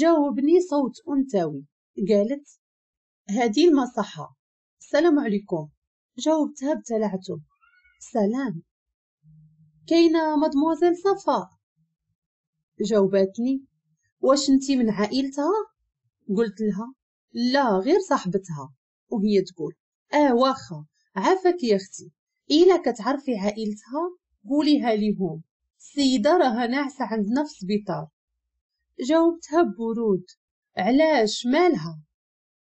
جاوبني صوت أنثوي، قالت هذه المصحة، السلام عليكم. جاوبتها بتلعثم، سلام، كاينه مادموزيل صفاء؟ جاوبتني واش انتي من عائلتها؟ قلت لها لا غير صاحبتها. وهي تقول واخا عافاك يا اختي، الا كتعرفي عائلتها قوليها ليهم، السيدة راها ناعسه عندنا في السبيطار. جاوبتها ببرود علاش مالها؟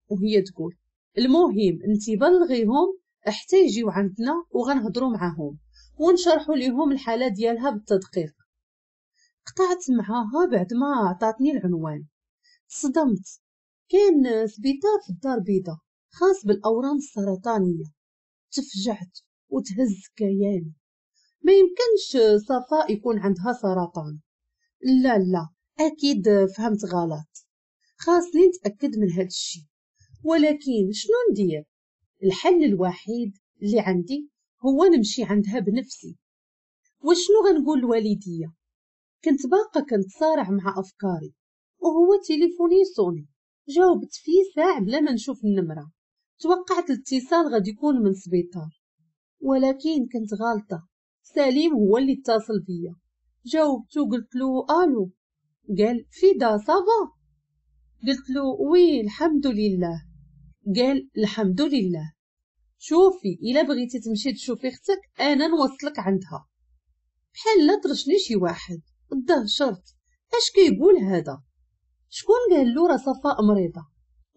وهي تقول المهم انتي بلغيهم حتى يجيو عندنا وغنهضروا معاهم ونشرحوا ليهم الحالة ديالها بالتدقيق. قطعت معاها بعد ما عطاتني العنوان. صدمت، كان سبيطار في الدار البيضاء خاص بالاورام السرطانية. تفجعت وتهز كياني، ما يمكنش صفاء يكون عندها سرطان، لا لا اكيد فهمت غلط، خاصني نتاكد من هذا الشيء. ولكن شنو ندير؟ الحل الوحيد اللي عندي هو نمشي عندها بنفسي. وشنو غنقول لوالديا؟ كنت باقا كنتصارع مع افكاري وهو تليفوني يصوني. جاوبت فيه ساعة بلا ما نشوف النمرة، توقعت الاتصال غادي يكون من سبيطار، ولكن كنت غالطه. سليم هو اللي اتصل بيا. جاوبته قلت له الو، قال فيدا ça va؟ قلت له oui الحمد لله. قال الحمد لله، شوفي الا بغيتي تمشي تشوفي اختك انا نوصلك عندها. بحال لا طرشني شي واحد، دهشرت، اش كيقول هذا؟ شكون قال له راه صفاء مريضه؟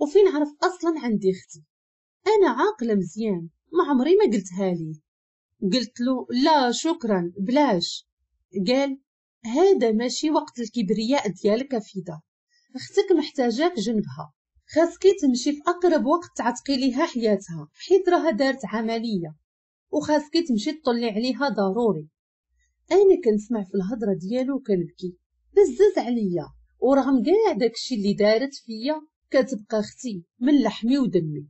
وفين عرف اصلا عندي اختي؟ انا عاقلة مزيان، ما عمري ما قلتها ليه. قلت له لا شكرا بلاش. قال هذا ماشي وقت الكبرياء ديالك فيدا، اختك محتاجاك جنبها، خاصكي تمشي في اقرب وقت تعتقي ليها حياتها حيت راها دارت عملية، وخاصكي تمشي تطلي عليها ضروري. انا كنسمع في الهضرة ديالو كنبكي بزز عليا، ورغم كاع داكشي اللي دارت فيا كتبقى اختي من لحمي ودمي.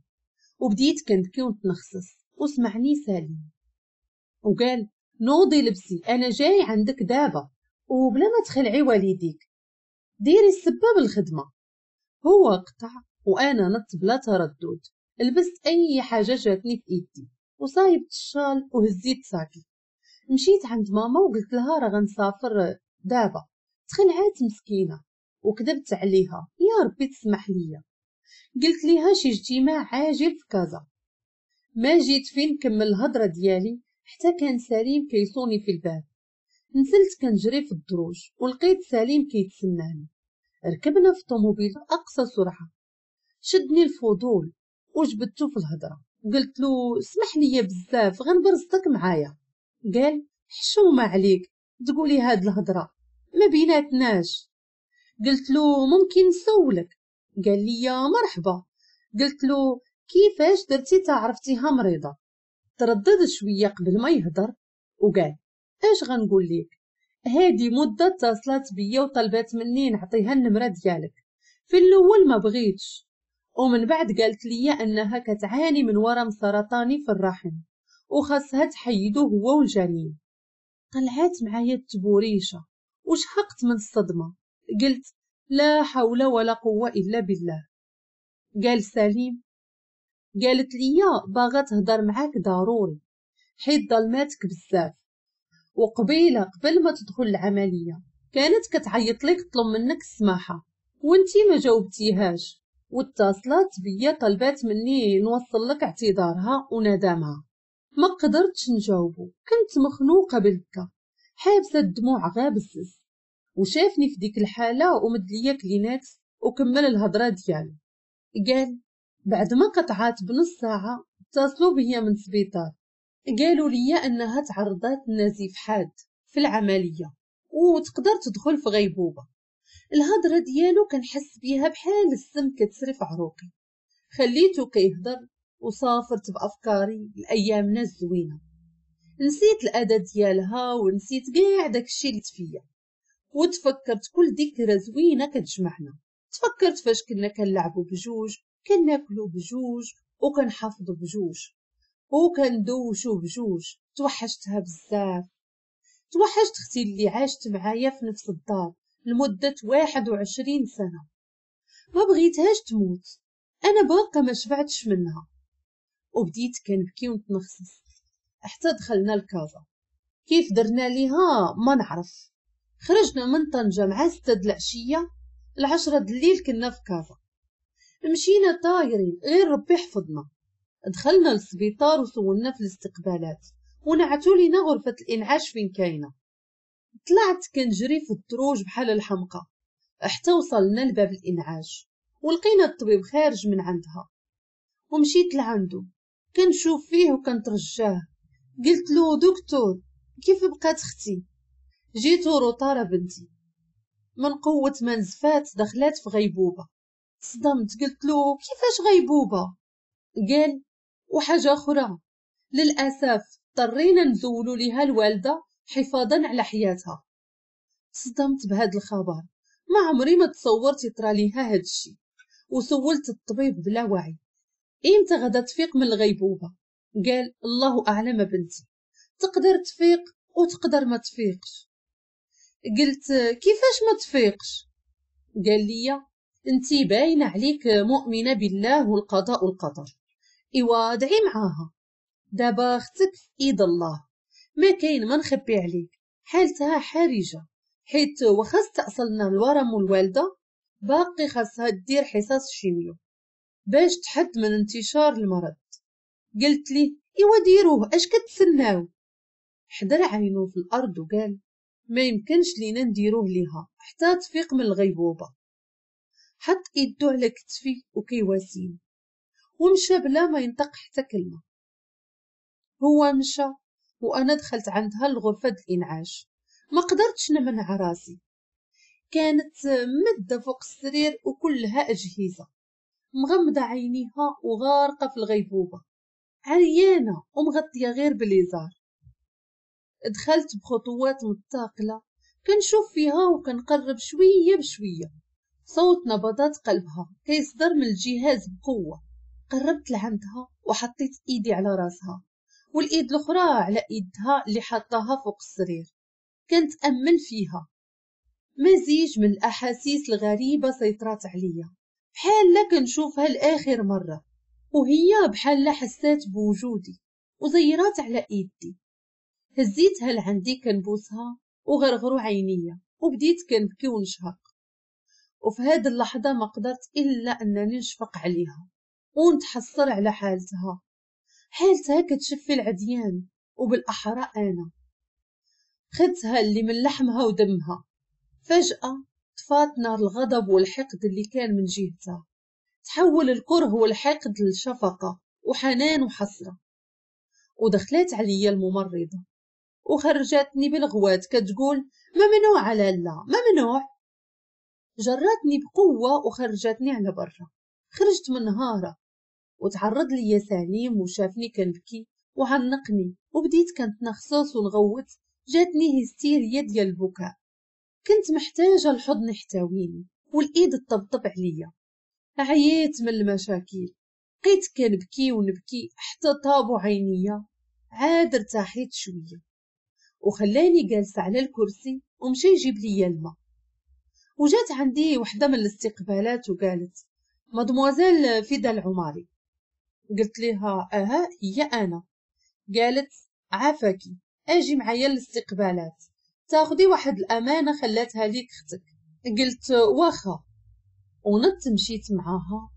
وبديت كنبكي ونتنخصص، وسمعني سليم وقال نوضي لبسي انا جاي عندك دابا، وبلا ما تخلعي والديك ديري السبه بالخدمة. هو قطع وانا نط بلا تردد، لبست اي حاجة جاتني في ايدي وصايبت الشال وهزيت ساكي. مشيت عند ماما وقلت لها راه غنسافر دابا. تخلعات مسكينه وكذبت عليها، يا ربي تسمح ليا. قلت ليها شي اجتماع عاجل في كازا. ما جيت فين نكمل الهضرة ديالي حتى كان سليم كيصوني في الباب. نزلت كنجري في الدروج ولقيت سليم كيتسناني. ركبنا في الطوموبيل باقصى سرعة. شدني الفضول وجبدته في الهضرة، قلت له اسمح لي بزاف غنبرزتك معايا. قال حشومه عليك تقولي هاد الهضرة ما بيناتناش. قلت له ممكن نسولك؟ قال لي يا مرحبا. قلت له كيفاش درتي تعرفتيها مريضه؟ تردد شوية قبل ما يهضر وقال اش غنقول لك، هادي مده اتصلت بيا وطلبات مني نعطيها النمرة ديالك. في الاول ما بغيتش، ومن بعد قالت لي انها كتعاني من ورم سرطاني في الرحم وخاصها تحيدو هو والجنين. طلعات معايا التبوريشه وشهقت من الصدمة. قلت لا حول ولا قوة الا بالله. قال سليم قالت لي باغا تهضر معاك ضروري حيت ظلماتك بزاف، وقبيله قبل ما تدخل العملية كانت كتعيط لك تطلب منك السماحة وانتي ما جاوبتيهاش، واتصلت بيا طلبات مني نوصل لك اعتذارها وندمها. ما قدرتش نجاوبو، كنت مخنوقه بالبكا حابسه الدموع غابسس. وشافني في ديك الحالة ومد ليا كلينكس وكمل الهضرة ديالو. قال بعد ما قطعات بنص ساعة اتصلوا بيا من سبيطار، قالوا لي انها تعرضت لنزيف حاد في العملية وتقدر تدخل في غيبوبة. الهضرة ديالو كنحس بيها بحال السم كتسري في عروقي. خليته كيهضر وسافرت بافكاري لايامنا الزوينة. نسيت الاداة ديالها ونسيت كاع داكشي اللي فيا، وتفكرت كل ذكرى زوينة كتجمعنا. تفكرت فاش كنا كنلعبوا بجوج، كناكلوا بجوج، وكنحافظوا بجوج، وكندوشوا بجوج. توحشتها بزاف، توحشت اختي اللي عاشت معايا في نفس الدار لمدة 21 سنة. ما بغيتهاش تموت، انا باقا ما شبعتش منها. وبديت كنبكي ونتنخصص حتى دخلنا لكازا. كيف درنا ليها ما نعرف. خرجنا من طنجة مع 6 د العشية، 10 د الليل كنا في كازا. مشينا طايرين غير ربي حفظنا. دخلنا للسبيطار وسولنا في الاستقبالات ونعتوا لينا غرفة الإنعاش فين كاينة. طلعت كنجري في الدروج بحال الحمقى حتى وصلنا لباب الإنعاش ولقينا الطبيب خارج من عندها. ومشيت لعنده كنشوف فيه وكنترجاه. قلت له دكتور كيف بقات اختي؟ جيتو روطارة بنتي من قوة ما نزفات دخلات في غيبوبة. صدمت، قلت له كيفاش غيبوبة؟ قال وحاجة أخرى، للأسف اضطرينا نزولو ليها الوالدة حفاظا على حياتها. صدمت بهذا الخبر، ما عمري ما تصورت يطرى ليها هاد الشي. وسولت الطبيب بلا وعي امتى غدا تفيق من الغيبوبة؟ قال الله أعلم بنتي، تقدر تفيق وتقدر ما تفيقش. قلت كيفاش ما تفيقش؟ قال لي انتي باينة عليك مؤمنة بالله والقضاء والقدر، ايوا دعي معاها، دابا اختك في ايد الله، ما كاين ما نخبي عليك، حالتها حرجه، حيت واخا استأصلنا الورم والوالدة باقي خاصها دير حصص chimio باش تحد من انتشار المرض. قلت لي ايوا ديروه، اش كتسناو؟ حدر عينو في الارض وقال ما يمكنش لينا نديروه ليها حتى تفيق من الغيبوبه. حط ايدو على كتفي وكيواسيني ومشى بلا ما ينطق حتى كلمة. هو مشى وانا دخلت عندها لغرفة الانعاش. ما قدرتش نمنع راسي، كانت مده فوق السرير وكلها اجهزة، مغمضه عينيها وغارقه في الغيبوبه، عريانه ومغطيه غير بليزار. دخلت بخطوات متثاقله كنشوف فيها وكنقرب شوية بشوية. صوت نبضات قلبها كيصدر من الجهاز بقوة. قربت لعندها وحطيت ايدي على راسها والايد الاخرى على ايدها اللي حطاها فوق السرير. كنتامل فيها. مزيج من الاحاسيس الغريبة سيطرات عليا، بحال كنشوفها لاخر مرة، وهي بحال حسات بوجودي وزيرات على ايدي. هزيتها لعندي كنبوسها وغرغروا عينيا وبديت كنبكي ونشهق. وفي هذه اللحظة ما قدرت الا انني نشفق عليها ونتحسر على حالتها. حالتها كتشفي العديان، وبالاحرى انا خدتها اللي من لحمها ودمها. فجأة طفات نار الغضب والحقد اللي كان من جهتها، تحول الكره والحقد لشفقة وحنان وحسرة. ودخلت عليا الممرضة وخرجتني بالغوات كتقول ممنوع لالا ممنوع. جرتني بقوة وخرجتني على برا. خرجت منهارة وتعرض لي سليم وشافني كنبكي وعنقني وبديت كنتنخصص ونغوت. جاتني هستيريا ديال البكاء. كنت محتاجة الحضن يحتويني والايد تطبطب عليا. عييت من المشاكل، بقيت كنبكي ونبكي حتى طابوا عينيا. عاد ارتاحيت شوية وخلاني جالسة على الكرسي ومشى يجيب لي الماء. وجات عندي وحده من الاستقبالات وقالت مادموزيل فدا العماري. قلت لها اها هي انا. قالت عافاكي اجي معايا للاستقبالات تاخدي واحد الامانة خلاتها ليك اختك. قلت واخا، ونط مشيت معاها.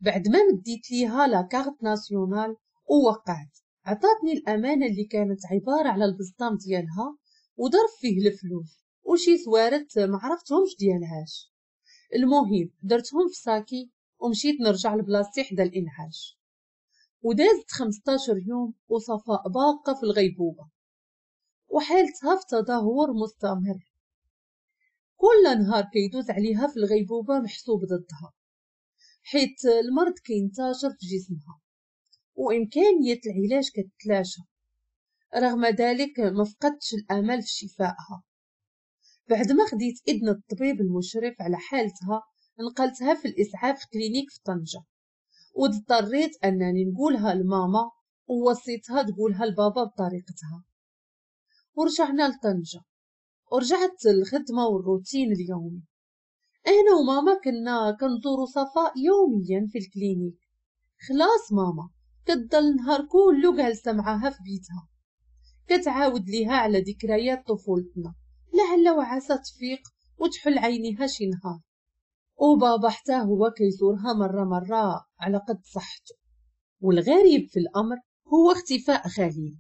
بعد ما مديت ليها la carte nationale ووقعت، عطاتني الامانة اللي كانت عبارة على البسطام ديالها وظرف فيه الفلوس وشي سوارت ما عرفتهمش ديالهاش. المهم درتهم في sac ي ومشيت نرجع لبلاصتي حدا الانعاش. ودازت 15 يوم وصفاء باقه في الغيبوبه وحالتها في تدهور مستمر. كل نهار كيدوز عليها في الغيبوبه محسوب ضدها، حيت المرض كينتشر في جسمها وامكانية العلاج كتلاشى. رغم ذلك ما فقدتش الامل في شفائها. بعد ما خديت اذن الطبيب المشرف على حالتها نقلتها في الاسعاف clinique في طنجه، واضطريت انني نقولها لماما ووصيتها تقولها لبابا بطريقتها. ورجعنا لطنجه ورجعت الخدمة والروتين اليومي. انا وماما كنا كنزورو صفاء يوميا في ال clinique. خلاص ماما كتضل النهار كله جالسة معاها في بيتها، كتعاود ليها على ذكريات طفولتنا لعل وعسى تفيق وتحل عينيها شي نهار. وبابا حتى هو كيزورها مرة مرة على قد صحته. والغريب في الأمر هو اختفاء خليل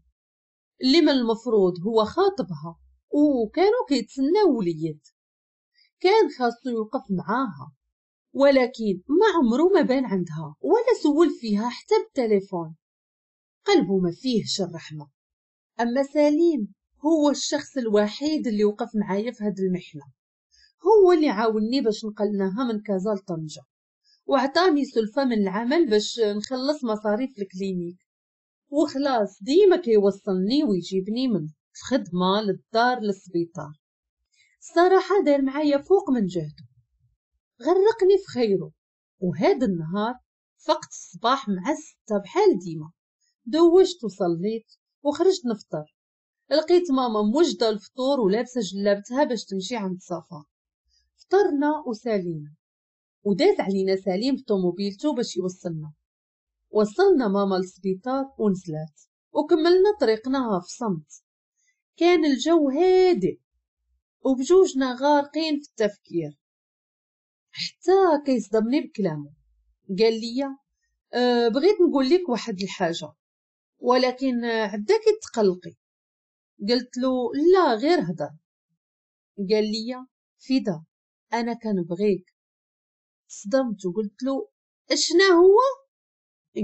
اللي من المفروض هو خاطبها وكانوا كيتسناو وليد، كان خاصو يوقف معاها، ولكن ما عمره ما بان عندها ولا سول فيها حتى بالتليفون. قلبه ما فيهش الرحمة. أما سليم هو الشخص الوحيد اللي وقف معايا في هاد المحنة، هو اللي عاوني باش نقلناها من كازا لطنجة، وعطاني سلفة من العمل باش نخلص مصاريف ال clinique. وخلاص ديما كيوصلني ويجيبني من الخدمة للدار للسبيطار. الصراحة دار معايا فوق من جهده، غرقني في خيره. وهذا النهار فقت الصباح مع 6 بحال ديما، دوشت وصليت وخرجت نفطر. لقيت ماما موجدة الفطور ولابسة جلابتها باش تمشي عند صفاء. فطرنا وسالينا، وداز علينا سليم بطوموبيلتو باش يوصلنا. وصلنا ماما للسبيطار ونزلات، وكملنا طريقنا في صمت. كان الجو هادئ وبجوجنا غارقين في التفكير، حتى كيصدمني بكلامه. قال لي بغيت نقول لك واحد الحاجة ولكن عداك تقلقي. قلت له لا غير هضر. قال لي فدا انا كنبغيك. صدمت وقلت له اشنا هو؟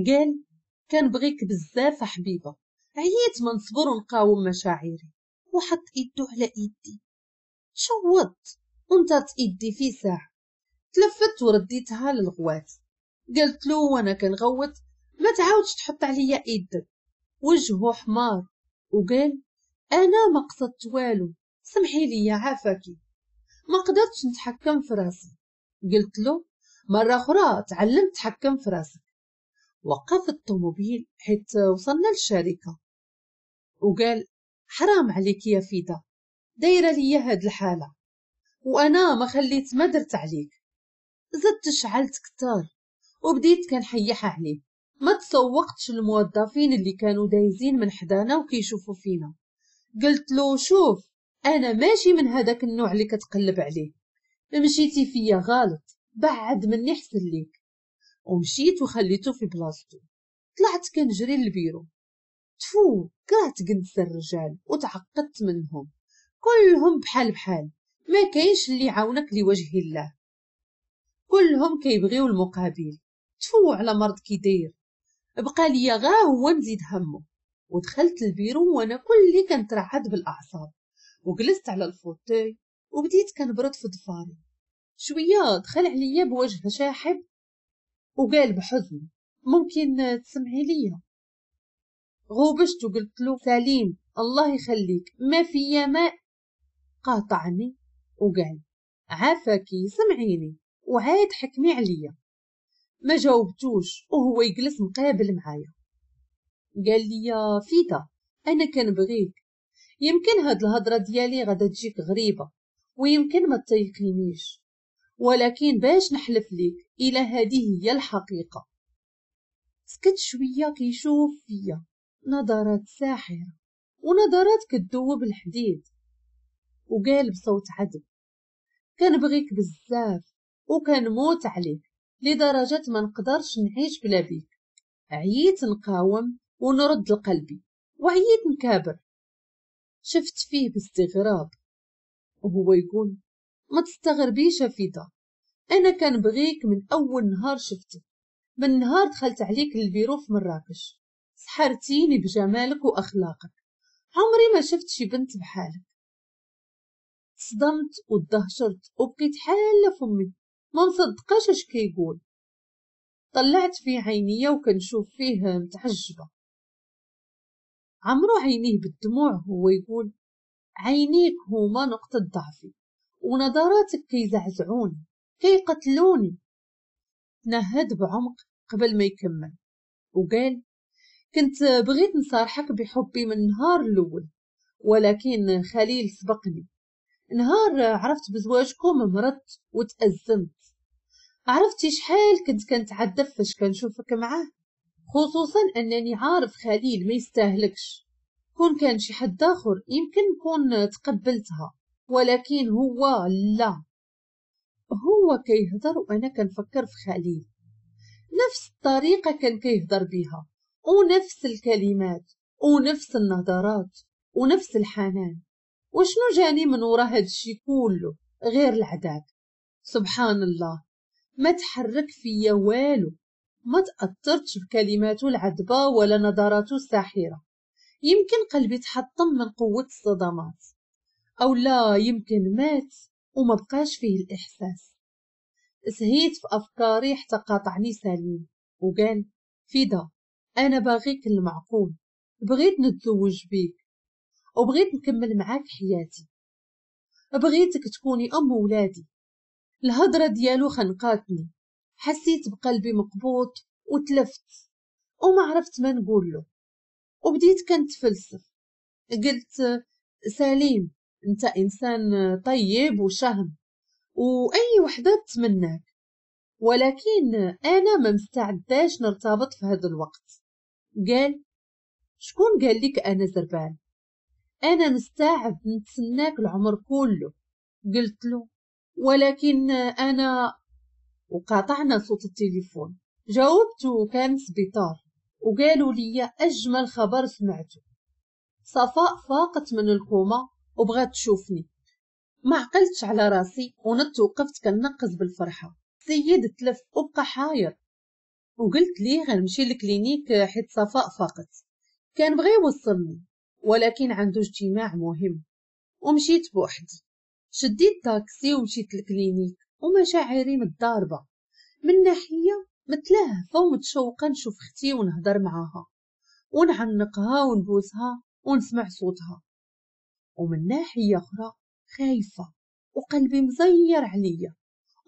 قال كنبغيك بزاف حبيبه، عييت ما نصبر ونقاوم مشاعري. وحط ايدو على ايدي، شوطت وانطرت ايدي في ساعة. تلفت ورديتها للغوات. قلت له وانا كنغوت ما تعاودش تحط عليا ايدك. وجهه حمار وقال انا ما قصدت والو، سمحي لي عافاكي، ما قدرتش نتحكم في راسي. قلت له مرة اخرى تعلم تحكم في راسك. وقف الطوموبيل حيت وصلنا للشركة وقال حرام عليك يا فيدا، دايرة ليا هاد الحالة وانا ما خليت ما درت عليك. زدت شعلت كتار وبديت كنحيح عليه. ما تسوقتش الموظفين اللي كانوا دايزين من حدانا وكيشوفوا فينا. قلت له شوف انا ماشي من هذاك النوع اللي كتقلب عليه، مشيتي فيا غلط، بعد مني حسن ليك. ومشيت وخليته في بلاصتو. طلعت كنجري للبيرو. تفو كرهت جنس الرجال وتعقدت منهم، كلهم بحال بحال، ما كاينش اللي يعاونك لوجه الله، كلهم كيبغيو المقابل. تفو على مرض كي داير. بقى ليا غا هو نزيد همه. ودخلت البيرو وانا كلي كنترعد بالاعصاب، وجلست على ال fauteuil وبديت كنبرد في ضفاري. شوية دخل عليا بوجه شاحب وقال بحزن ممكن تسمعي ليا؟ غوبشت وقلت له سليم الله يخليك ما فيا ماء. قاطعني وقال عافاكي سمعيني وعاد حكمي عليا. ما جاوبتوش وهو يجلس مقابل معايا. قال لي يا فيدا انا كنبغيك، يمكن هاد الهضرة ديالي غادا تجيك غريبة ويمكن ما تيقينيش، ولكن باش نحلف ليك الى هذه هي الحقيقة. سكت شوية كيشوف فيا نظرات ساحرة ونظرات كتذوب الحديد، وقال بصوت عذب كنبغيك بزاف وكنموت عليك لدرجة ما نقدرش نعيش بلا بيك. عييت نقاوم ونرد لقلبي وعييت نكابر. شفت فيه باستغراب وهو يقول ما تستغربيش فيدا، انا كنبغيك من اول نهار شفتك، من نهار دخلت عليك للبيرو في مراكش، سحرتيني بجمالك واخلاقك، عمري ما شفت شي بنت بحالك. صدمت وتدهشرت وبقيت حاله فمي ما مصدقاش اش كيقول. طلعت فيه عينيا وكنشوف فيه متعجبه. عمرو عينيه بالدموع هو يقول عينيك هما نقطة ضعفي ونظراتك كيزعزعوني كيقتلوني. تنهد بعمق قبل ما يكمل وقال كنت بغيت نصارحك بحبي من النهار الاول، ولكن خليل سبقني. نهار عرفت بزواجكم مرضت وتأزمت. عرفتي شحال كنت كنتعذب فاش كنشوفك معاه، خصوصا انني عارف خليل ما يستاهلكش. كون كان شي حد اخر يمكن نكون تقبلتها، ولكن هو لا. هو كيهضر وانا كنفكر في خليل، نفس الطريقة كان كيهضر بها، ونفس الكلمات ونفس النظرات ونفس الحنان. وشنو جاني من ورا هادشي كله غير العذاب؟ سبحان الله، ما تحرك فيا والو، ما تأثرتش بكلماته العذبة ولا نظراته الساحرة. يمكن قلبي تحطم من قوة الصدمات، أو لا يمكن مات وما بقاش فيه الإحساس. سهيت في أفكاري حتى قاطعني سليم وقال فدا، أنا باغيك المعقول، بغيت نتزوج بيك وبغيت نكمل معاك حياتي، بغيتك تكوني أم ولادي. الهضرة ديالو خنقاتني، حسيت بقلبي مقبوط وتلفت وما عرفت ما نقول له، وبديت كنتفلسف. قلت سليم انت انسان طيب وشهم واي وحده تتمناك، ولكن انا ما مستعداش نرتبط في هذا الوقت. قال شكون قال لك انا زربان؟ انا مستعد نتسناك العمر كله. قلت له ولكن انا، وقاطعنا صوت التليفون. جاوبت وكان سبيطار، وقالوا لي اجمل خبر سمعته، صفاء فاقت من الكوما وبغات تشوفني. ما عقلتش على راسي ونط وقفت كنقز بالفرحه. السيد تلف وبقى حاير، وقلت ليه غنمشي لل clinique حيت صفاء فاقت. كان بغى يوصلني ولكن عنده اجتماع مهم، ومشيت بوحدي. شديت تاكسي ومشيت لل clinique ومشاعري متضاربة. من ناحية متلهفه ومتشوقه نشوف اختي ونهضر معاها ونعنقها ونبوسها ونسمع صوتها، ومن ناحية اخرى خايفة وقلبي مزير عليا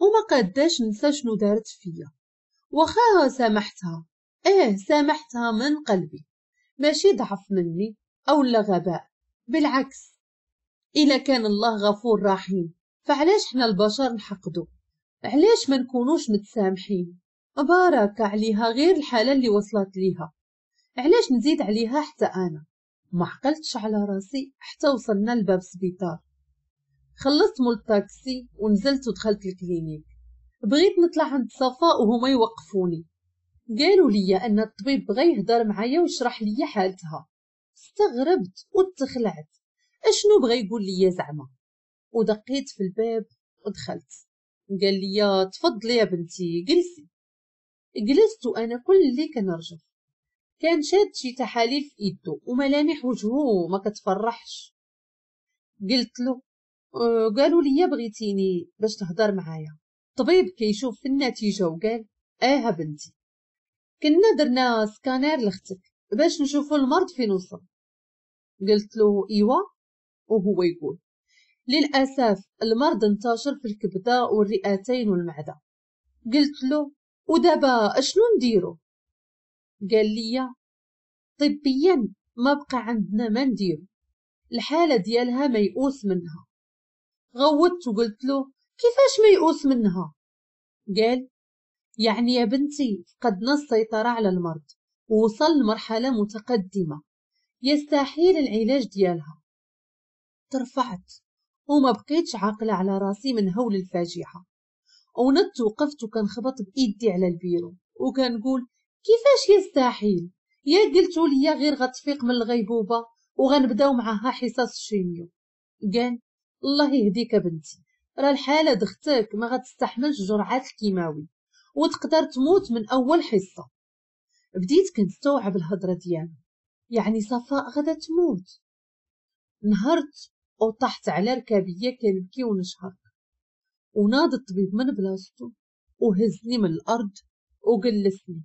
وما قاداش ننسى شنو دارت فيا. واخا سامحتها، سامحتها من قلبي، ماشي ضعف مني او لا غباء، بالعكس. الا كان الله غفور رحيم فعلاش حنا البشر نحقدو؟ علاش ما نكونوش متسامحين؟ بارك عليها غير الحالة اللي وصلت ليها، علاش نزيد عليها حتى انا؟ ما عقلتش على راسي حتى وصلنا لباب السبيطار. خلصت مول الطاكسي ونزلت ودخلت ال clinique. بغيت نطلع عند صفاء وهما يوقفوني. قالوا لي ان الطبيب بغى يهضر معايا ويشرح لي حالتها. استغربت وتخلعت، اشنو بغى يقول لي زعما؟ ودقيت في الباب ودخلت. قال لي تفضلي يا بنتي جلسي. جلست وانا كلي كنرجف. كان شاد شي تحاليل في ايدو وملامح وجهه ما كتفرحش. قلت له قالوا لي بغيتيني باش تهضر معايا. الطبيب كيشوف في النتيجة وقال اه بنتي، كنا درنا سكانير لاختك باش نشوفوا المرض فين وصل. قلت له ايوا، وهو يقول للاسف المرض انتشر في الكبده والرئتين والمعده. قلت له ودابا اشنو نديرو؟ قال لي طبيا ما بقى عندنا ما نديرو، الحالة ديالها ميؤوس منها. غوضت وقلت له كيفاش ميؤوس منها؟ قال يعني يا بنتي فقدنا السيطرة على المرض ووصل لمرحلة متقدمة يستحيل العلاج ديالها. ترفعت وما بقيتش عاقلة على راسي من هول الفاجعة، ونط وقفت وكنخبط بايدي على البيرو وكنقول كيفاش يستحيل؟ يا قلتوا لي غير غتفيق من الغيبوبه وغنبداو معاها حصص ال chimio. قال الله يهديك بنتي، راه الحالة دختك ما غتستحملش جرعات الكيماوي وتقدر تموت من اول حصة. بديت كنستوعب الهضرة ديالو، يعني صفاء غدا تموت. نهرت وطحت على ركابيه كنبكي ونشهق، وناض الطبيب من بلاصتو وهزني من الارض وجلسني.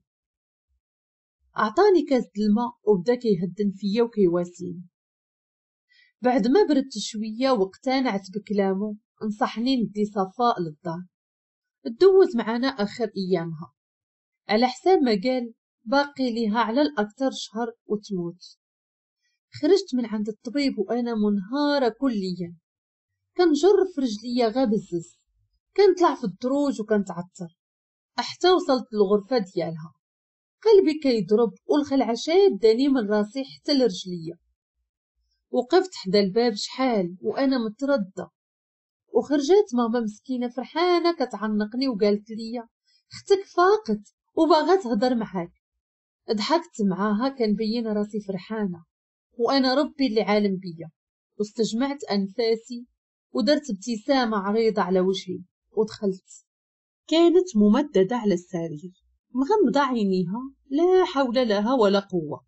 اعطاني كاس الماء وبدا كيهدن فيا وكيواسيني. بعد ما بردت شوية واقتنعت بكلامه نصحني ندي صفاء للدار تدوز معنا اخر ايامها، على حساب ما قال باقي ليها على الاكثر شهر وتموت. خرجت من عند الطبيب وانا منهاره كليا، كنجر في رجليا غا بزز، كنطلع في الدروج وكنتعثر حتى وصلت للغرفة ديالها. قلبي كيضرب والخلعة شاداني من راسي حتى لرجليا. وقفت حدا الباب شحال وانا متردة، وخرجت ماما مسكينة فرحانة كتعنقني وقالت لي اختك فاقت وباغا تهضر معاك. ضحكت معاها كنبين راسي فرحانة وانا ربي اللي عالم بيا، واستجمعت انفاسي ودرت ابتسامة عريضة على وجهي ودخلت. كانت ممددة على السرير مغمضة عينيها، لا حول لها ولا قوة.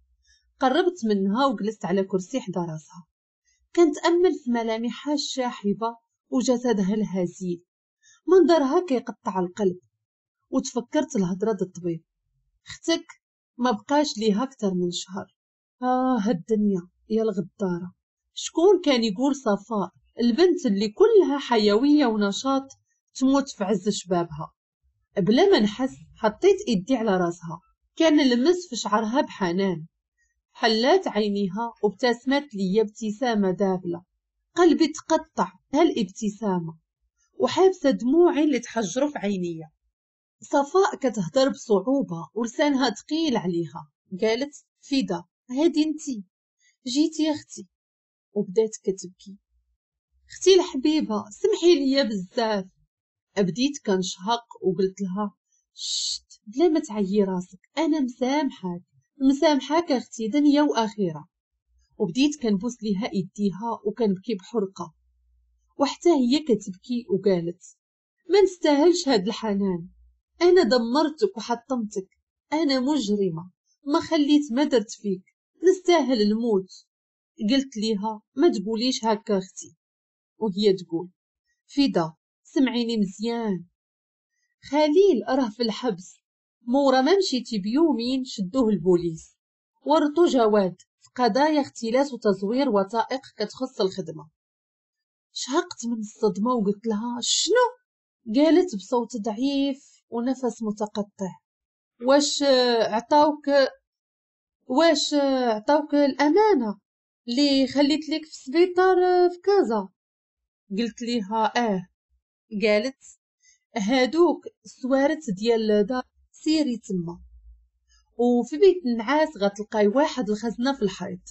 قربت منها وجلست على كرسي حدا راسها، كنتأمل في ملامحها الشاحبة وجسدها الهزيل، منظرها كيقطع القلب. وتفكرت الهضرة د الطبيب، اختك ما بقاش ليها اكثر من شهر. هالدنيا يا الغدارة، شكون كان يقول صفاء البنت اللي كلها حيوية ونشاط تموت في عز شبابها؟ بلا ما نحس حطيت ايدي على راسها، كان لمس في شعرها بحنان. حلات عينيها وابتسمت لي ابتسامة دابلة، قلبي تقطع هالابتسامة وحابسة دموعي اللي تحجروا في عينيا. صفاء كتهضر بصعوبة ولسانها ثقيل عليها، قالت فدا هادي انتي جيتي يا اختي، وبدات كتبكي. اختي الحبيبة سمحي لي بزاف. بديت كنشهق وقلت لها شت بلا ما تعيي راسك، انا مسامحاك مسامحاك اختي دنيا واخره. وبديت كنبوس ليها ايديها وكنبكي بحرقه، وحتى هي كتبكي وقالت ما نستاهلش هاد الحنان، انا دمرتك وحطمتك، انا مجرمه ما خليت ما درت فيك، نستاهل الموت. قلت ليها ما تقوليش هكا اختي، وهي تقول فدا سمعيني مزيان، خليل راه في الحبس، مورا ما مشيتي بيومين شدوه البوليس ورطو جواد في قضايا اختلاس وتزوير وثائق كتخص الخدمة. شهقت من الصدمة وقلت لها شنو؟ قالت بصوت ضعيف ونفس متقطع واش عطاوك الامانة اللي خليت لك في السبيطار في كازا؟ قلت ليها اه. قالت هادوك السوارت ديال دار سيري تما، وفي بيت النعاس غتلقاي واحد الخزنة في الحيط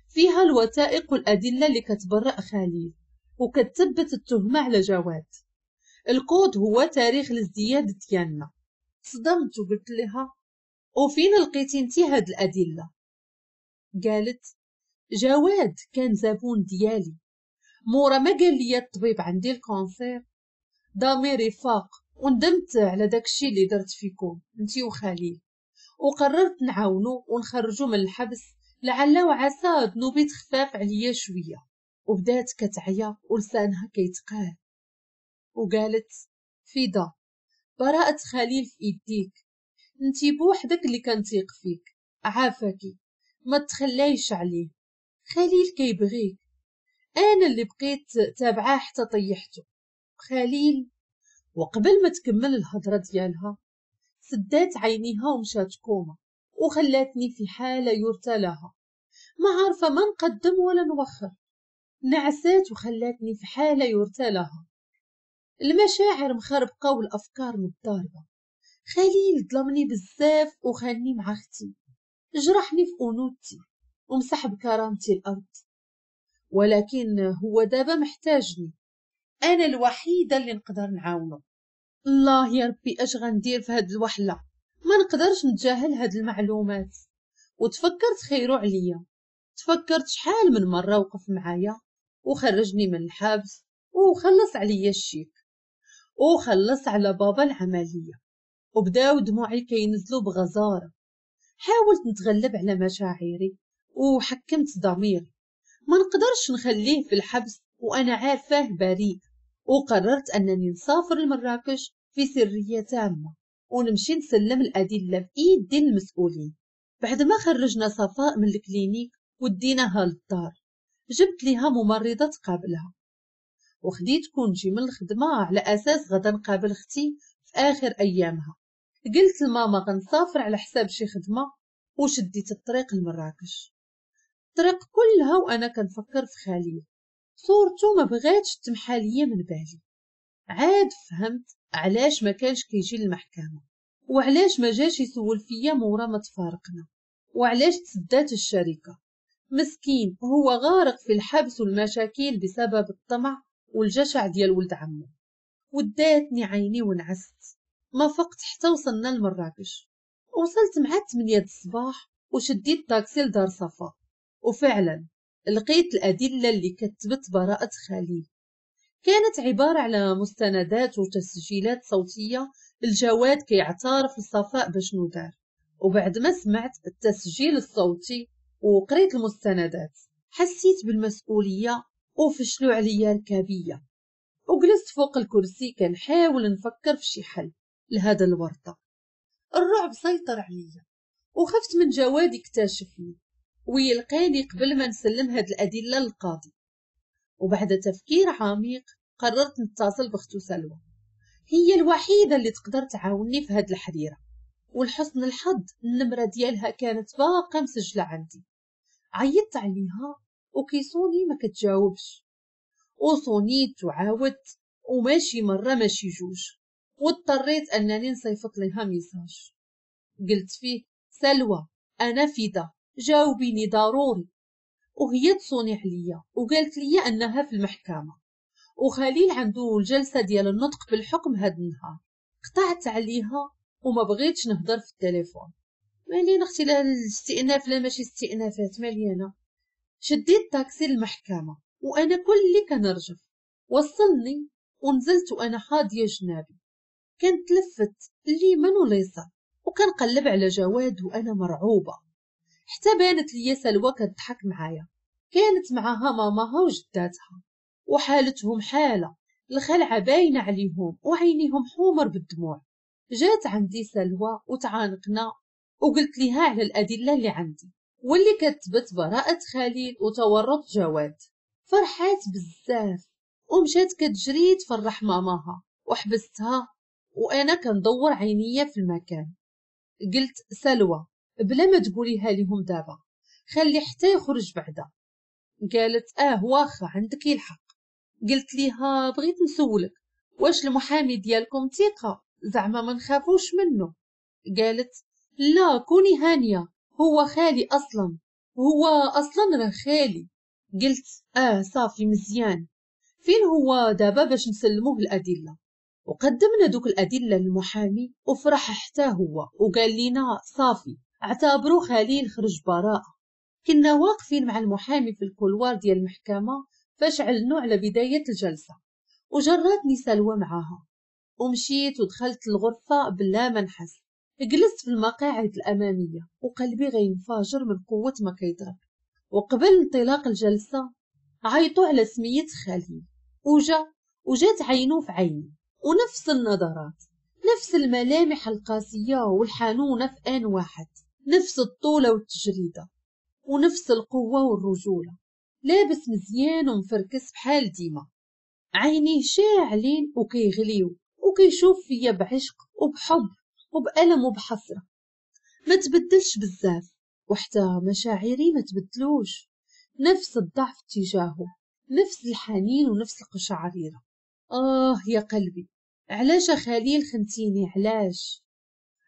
فيها الوثائق والادلة اللي كتبرأ خليل وكتثبت التهمة على جواد، الكود هو تاريخ الازدياد ديالنا. صدمت وقلت لها وفين لقيتي انتي هاد الادلة؟ قالت جواد كان زبون ديالي، مورا ما قال لي الطبيب عندي ال cancer ضميري فاق وندمت على داكشي اللي درت فيكم انتي وخليل، وقررت نعاونو ونخرجو من الحبس لعل وعسى ذنوبي تخفاف عليا شوية. وبدات كتعيا ولسانها كيتقال، وقالت فدا براءة خليل في ايديك، انتي بوحدك اللي كنتيق فيك، عافاكي ما تخليش عليه، خليل كيبغيك، انا اللي بقيت تابعاه حتى طيحته خليل. وقبل ما تكمل الهضرة ديالها سدات عينيها ومشات كوما وخلاتني في حاله يرثى لها، ما عارفه ما نقدم ولا نوخر. نعسات وخلاتني في حاله يرثى لها، المشاعر مخربقه والافكار متضاربة. خليل ظلمني بزاف وخانني مع اختي، جرحني في انوثتي ومسح بكرامتي الارض، ولكن هو دابا محتاجني، انا الوحيدة اللي نقدر نعاونه. الله يا ربي اش غندير في هاد الوحله، ما نقدرش نتجاهل هاد المعلومات. وتفكرت خيرو عليا، تفكرت شحال من مرة وقف معايا وخرجني من الحبس وخلص عليا الشيك وخلص على بابا العملية، وبداو دموعي كينزلوا بغزاره. حاولت نتغلب على مشاعري وحكمت ضميري، ما نقدرش نخليه في الحبس وانا عارفاه بريء. وقررت انني نسافر لمراكش في سرية تامة ونمشي نسلم الادلة بايدي المسؤولين. بعد ما خرجنا صفاء من ال clinique وديناها للدار، جبت ليها ممرضة تقابلها، وخديت congé من الخدمة على اساس غدا نقابل اختي في اخر ايامها. قلت لماما غنسافر على حساب شي خدمة، وشديت الطريق لمراكش. الطريق كلها وانا كنفكر في خليل. صورته ما بغاتش تمحى ليا من بالي. عاد فهمت علاش ما كانش كيجي للمحكمة، وعلاش ما جاش يسول فيا مورا ما تفارقنا، وعلاش تسدات الشركة. مسكين هو غارق في الحبس والمشاكل بسبب الطمع والجشع ديال ولد عمو. وداتني عيني ونعست، ما فقت حتى وصلنا لمراكش. وصلت مع 8 الصباح وشديت طاكسي لدار صفاء، وفعلا لقيت الأدلة اللي كتبت براءة خليل. كانت عبارة على مستندات وتسجيلات صوتية الجواد كيعترف لصفاء بشنو دار. وبعد ما سمعت التسجيل الصوتي وقريت المستندات حسيت بالمسؤولية وفشلوا عليا الكابية، وجلست فوق الكرسي كنحاول نفكر في شي حل لهذا الورطة. الرعب سيطر عليا وخفت من جواد يكتشفني ويلقاني قبل ما نسلم هاد الأدلة للقاضي. وبعد تفكير عميق قررت نتصل بختو سلوى، هي الوحيدة اللي تقدر تعاوني في هاد الحريرة. والحسن الحظ النمرة ديالها كانت باقا مسجلة عندي. عيطت عليها وكيصوني ما كتجاوبش، وصونيت وعاودت وماشي مرة ماشي جوج، واضطريت أنني نصيفط لها message قلت فيه سلوى أنا فدا جاوبيني ضروري. وهي تصوني عليا وقالت لي أنها في المحكمة وخليل عنده الجلسة ديال النطق بالحكم هاد النهار. قطعت عليها وما بغيتش نهضر في التليفون. مالي اختي لا الاستئناف لا ماشي استئنافات مالي. شديت طاكسي للمحكمة وأنا كلي كنرجف. وصلني ونزلت وأنا حاضية جنابي، كنتلفت اليمين واليسار وكنقلب على جواد وأنا مرعوبة. حتى بانت لي سلوى كتضحك معايا، كانت معاها ماماها وجداتها وحالتهم حالة، الخلعة باينة عليهم وعينيهم حمر بالدموع. جات عندي سلوى وتعانقنا وقلت لها على الأدلة اللي عندي واللي كتبت براءة خليل وتورط جواد. فرحات بزاف ومشات كتجري تفرح ماماها، وحبستها وأنا كندور عينيا في المكان. قلت سلوى بلا ما تقوليها لهم دابا، خلي حتى يخرج بعدا. قالت واخا عندك الحق. قلت ليها بغيت نسولك واش المحامي ديالكم ثقة زعما ما نخافوش منه؟ قالت لا كوني هانية، هو خالي اصلا، هو اصلا راه خالي. قلت صافي مزيان، فين هو دابا باش نسلموه الأدلة؟ وقدمنا دوك الأدلة للمحامي وفرح حتى هو وقال لنا صافي اعتبروا خليل خرج براءة. كنا واقفين مع المحامي في ال couloir ديال المحكمة فاش علنوا على بداية الجلسة، وجرتني سلوى معاها ومشيت ودخلت الغرفة بلا ما نحس. جلست في المقاعد الأمامية وقلبي غينفجر من قوة ما كيضرب. وقبل انطلاق الجلسة عيطوا على سمية خليل وجات عينو في عيني، ونفس النظرات، نفس الملامح القاسية والحنونة في آن واحد، نفس الطولة والتجريدة ونفس القوة والرجولة، لابس مزيان ومفركس بحال ديما، عينيه شاعلين وكيغليو وكيشوف فيا بعشق وبحب وبألم وبحسرة. ما تبدلش بزاف وحتى مشاعري ما تبدلوش، نفس الضعف تجاهه، نفس الحنين ونفس القشعريرة. يا قلبي علاش خليل خنتيني علاش؟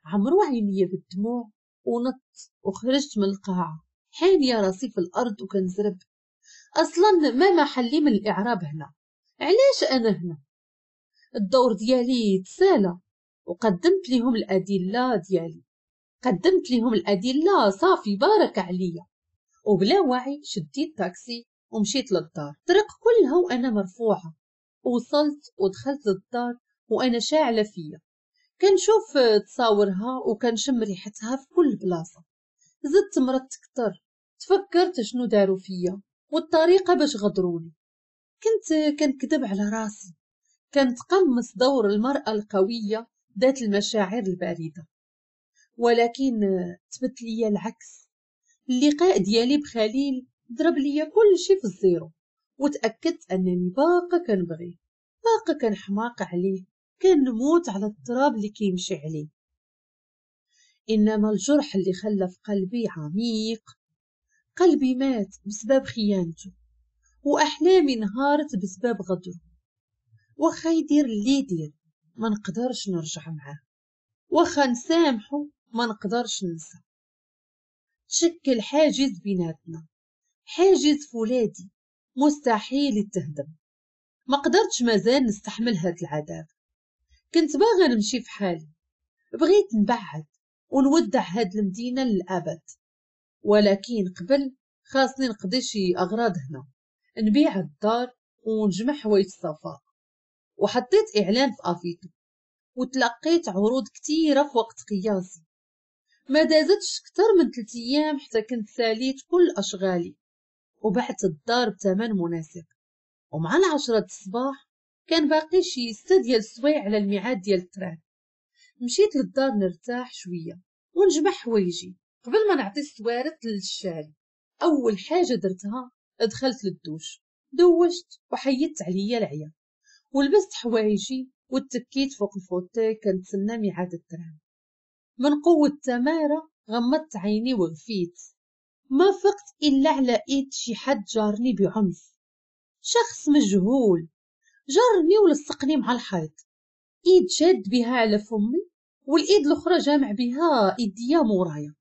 عمرو عينيا بالدموع ونط وخرجت من القاعة حانية راسي في الأرض وكنزرب. أصلا ما محلي من الإعراب هنا، علاش أنا هنا؟ الدور ديالي تسالى وقدمت لهم الأدلة ديالي، قدمت لهم الأدلة صافي بارك عليا. وبلا وعي شديت تاكسي ومشيت للدار، الطريق كلها وأنا مرفوعة. وصلت ودخلت للدار وأنا شاعلة فيا، كنشوف تصاورها وكنشم ريحتها في كل بلاصة. زدت مرضت كتر، تفكرت شنو داروا فيا والطريقة باش غدروني. كنت كنكذب على راسي، كنتقمص دور المرأة القوية ذات المشاعر الباردة، ولكن تبت لي العكس. اللقاء ديالي بخليل ضرب لي كل شيء في ال zéro، وتأكدت أنني باقا كنبغيه، باقا كنحماق عليه، كنموت على التراب اللي كيمشي عليه. إنما الجرح اللي خلى في قلبي عميق، قلبي مات بسبب خيانته، وأحلامي انهارت بسبب غدره. واخا يدير اللي يدير ما نقدرش نرجع معاه، واخا نسامحه ما نقدرش ننسى. تشكل حاجز بيناتنا، حاجز فولاذي مستحيل يتهدم. ما قدرتش مازال نستحمل هاد العذاب. كنت باغا نمشي في حالي، بغيت نبعد ونودع هاد المدينة للأبد، ولكن قبل خاصني نقضي شي أغراض هنا، نبيع الدار ونجمع حوايج الصفاء. وحطيت إعلان في أفيتو وتلقيت عروض كتيرة في وقت قياسي. ما دازتش كتر من 3 أيام حتى كنت ساليت كل أشغالي وبعت الدار بثمن مناسب. ومع 10 الصباح كان باقي شي 6 ديال السوايع على الميعاد ديال ال train. مشيت للدار نرتاح شوية ونجمع حوايجي قبل ما نعطي السوارت للشاري. أول حاجة درتها دخلت للدوش، دوشت وحيدت عليا العيا ولبست حوايجي وتكيت فوق ال fauteuil كنتسنى ميعاد ال train. من قوة التمارة غمضت عيني وغفيت. ما فقت إلا على إيد شي حد جارني بعنف، شخص مجهول جرني ولصقني مع الحيط. إيد شاد بها على فمي والإيد الأخرى جامع بها إيديا مورايا.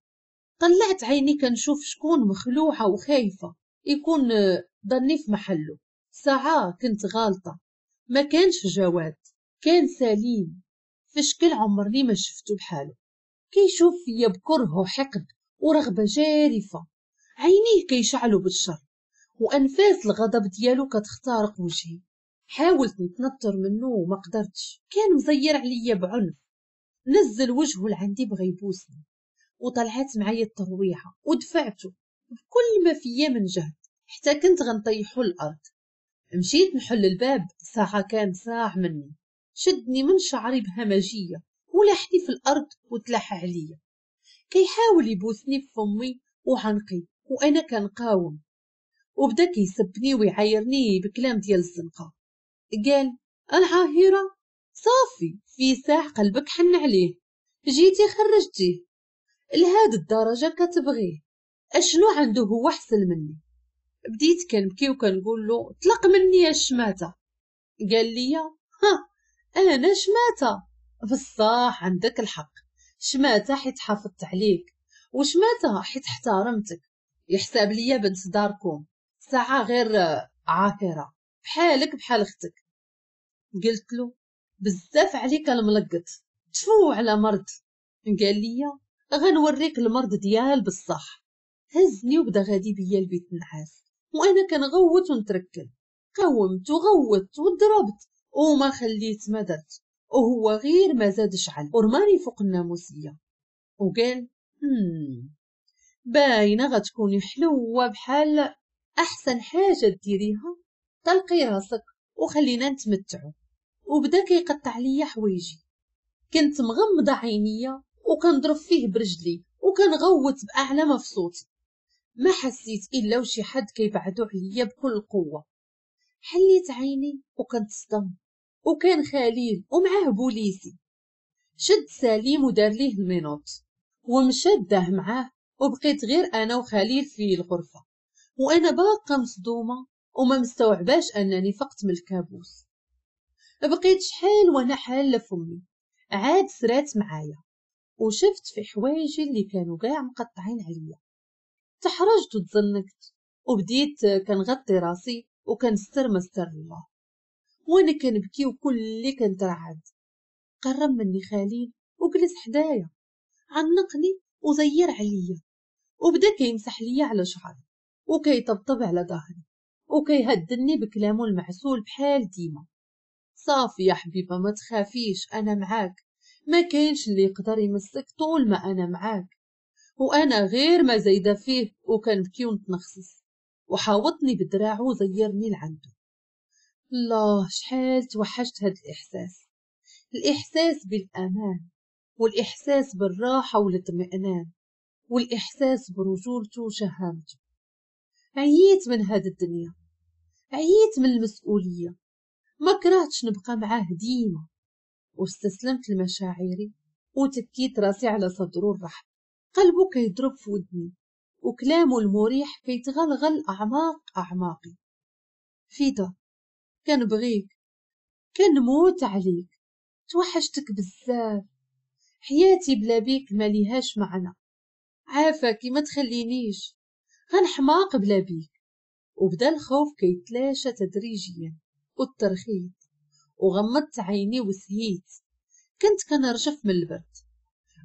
طلعت عيني كنشوف شكون، مخلوعة وخايفة يكون ظني في محله. ساعة كنت غالطة، ما كانش جواد، كان سليم في شكل عمرني ما شفته بحاله. كيشوف فيا بكره وحقد ورغبة جارفة، عينيه كيشعلوا بالشر وأنفاس الغضب ديالو كتخترق وجهي. حاولت نتنطر منه وما قدرتش، كان مزير عليا بعنف. نزل وجهه لعندي بغى يبوسني وطلعت معايا الترويحة ودفعته بكل ما فيا من جهد حتى كنت غنطيحو الأرض. مشيت نحل الباب، ساعة كان ساع مني، شدني من شعري بهمجية ولحني في الأرض وتلح عليا. كيحاول يبوسني في فمي وعنقي وأنا كنقاوم، وبدا كيسبني ويعايرني بكلام ديال الزنقة. قال العاهرة صافي في ساع قلبك حن عليه، جيتي خرجتيه لهاد الدرجة كتبغيه، اشنو عنده هو احسن مني؟ بديت كنبكي وكنقول له طلق مني يا الشماتة. قال لي ها انا شماتة؟ بصح عندك الحق، شماتة حيت حافظت عليك، وشماتة حيت احترمتك. يحسب ليا بنت داركم ساعة غير عاهرة بحالك بحال اختك. قلت له بزاف عليك الملقط، تفو على مرض. قال لي غنوريك المرض ديال بصح. هزني وبدا غادي بيا البيت النعاس وانا كنغوت ونتركل. قاومت وغوت وضربت وما خليت ما درت، وهو غير ما زاد شعل ورماني فوق الناموسيه وقال باينة غتكوني حلوة بحال احسن حاجة ديريها، طلقي راسك وخلينا نتمتعوا. وبدا كيقطع ليا حوايجي، كنت مغمضه عينيا وكنضرب فيه برجلي وكنغوت باعلى ما في صوتي. ما حسيت الا وشي حد كيبعدو عليا بكل قوة. حليت عيني وكنتصدم، وكان خليل ومعاه بوليسي. شد سليم ودار ليه ال menottes ومشى داه معاه، وبقيت غير انا وخليل في الغرفة وانا باقا مصدومة وما مستوعباش انني فقت من الكابوس. بقيت شحال وانا حاله فمي، عاد سرات معايا وشفت في حوايجي اللي كانوا كاع مقطعين عليا. تحرجت وتزنكت وبديت كنغطي راسي وكنستر ما ستر الله وانا كنبكي وكلي كنترعد. قرب مني خليل وجلس حدايا، عنقني وزير عليا وبدا كيمسح ليا على شعري وكيطبطب على ظهري وكيهدني بكلامه المعسول بحال ديما. صافي يا حبيبه ما تخافيش، انا معاك، ما كاينش اللي يقدر يمسك طول ما انا معاك. وانا غير ما زايدة فيه وكنبكي ونتنخصص، وحاوطني بدراعه وزيرني لعنده. الله شحال توحشت هاد الاحساس، الاحساس بالامان والاحساس بالراحة والاطمئنان والاحساس برجولته وشهامته. عييت من هاد الدنيا، عييت من المسؤولية، ما كرهتش نبقى معاه ديما. واستسلمت لمشاعري وتكيت راسي على صدره الرحب. قلبه كيضرب في ودني وكلامه المريح كيتغلغل اعماق اعماقي. فيدا كنبغيك، كنموت عليك، توحشتك بزاف، حياتي بلا بيك ما ليهاش معنى، عافاكي ما تخلينيش، غنحماق بلا بيك. وبدا الخوف كيتلاشى تدريجيا والترخيط، وغمضت عيني وسهيت، كنت كنرجف من البرد.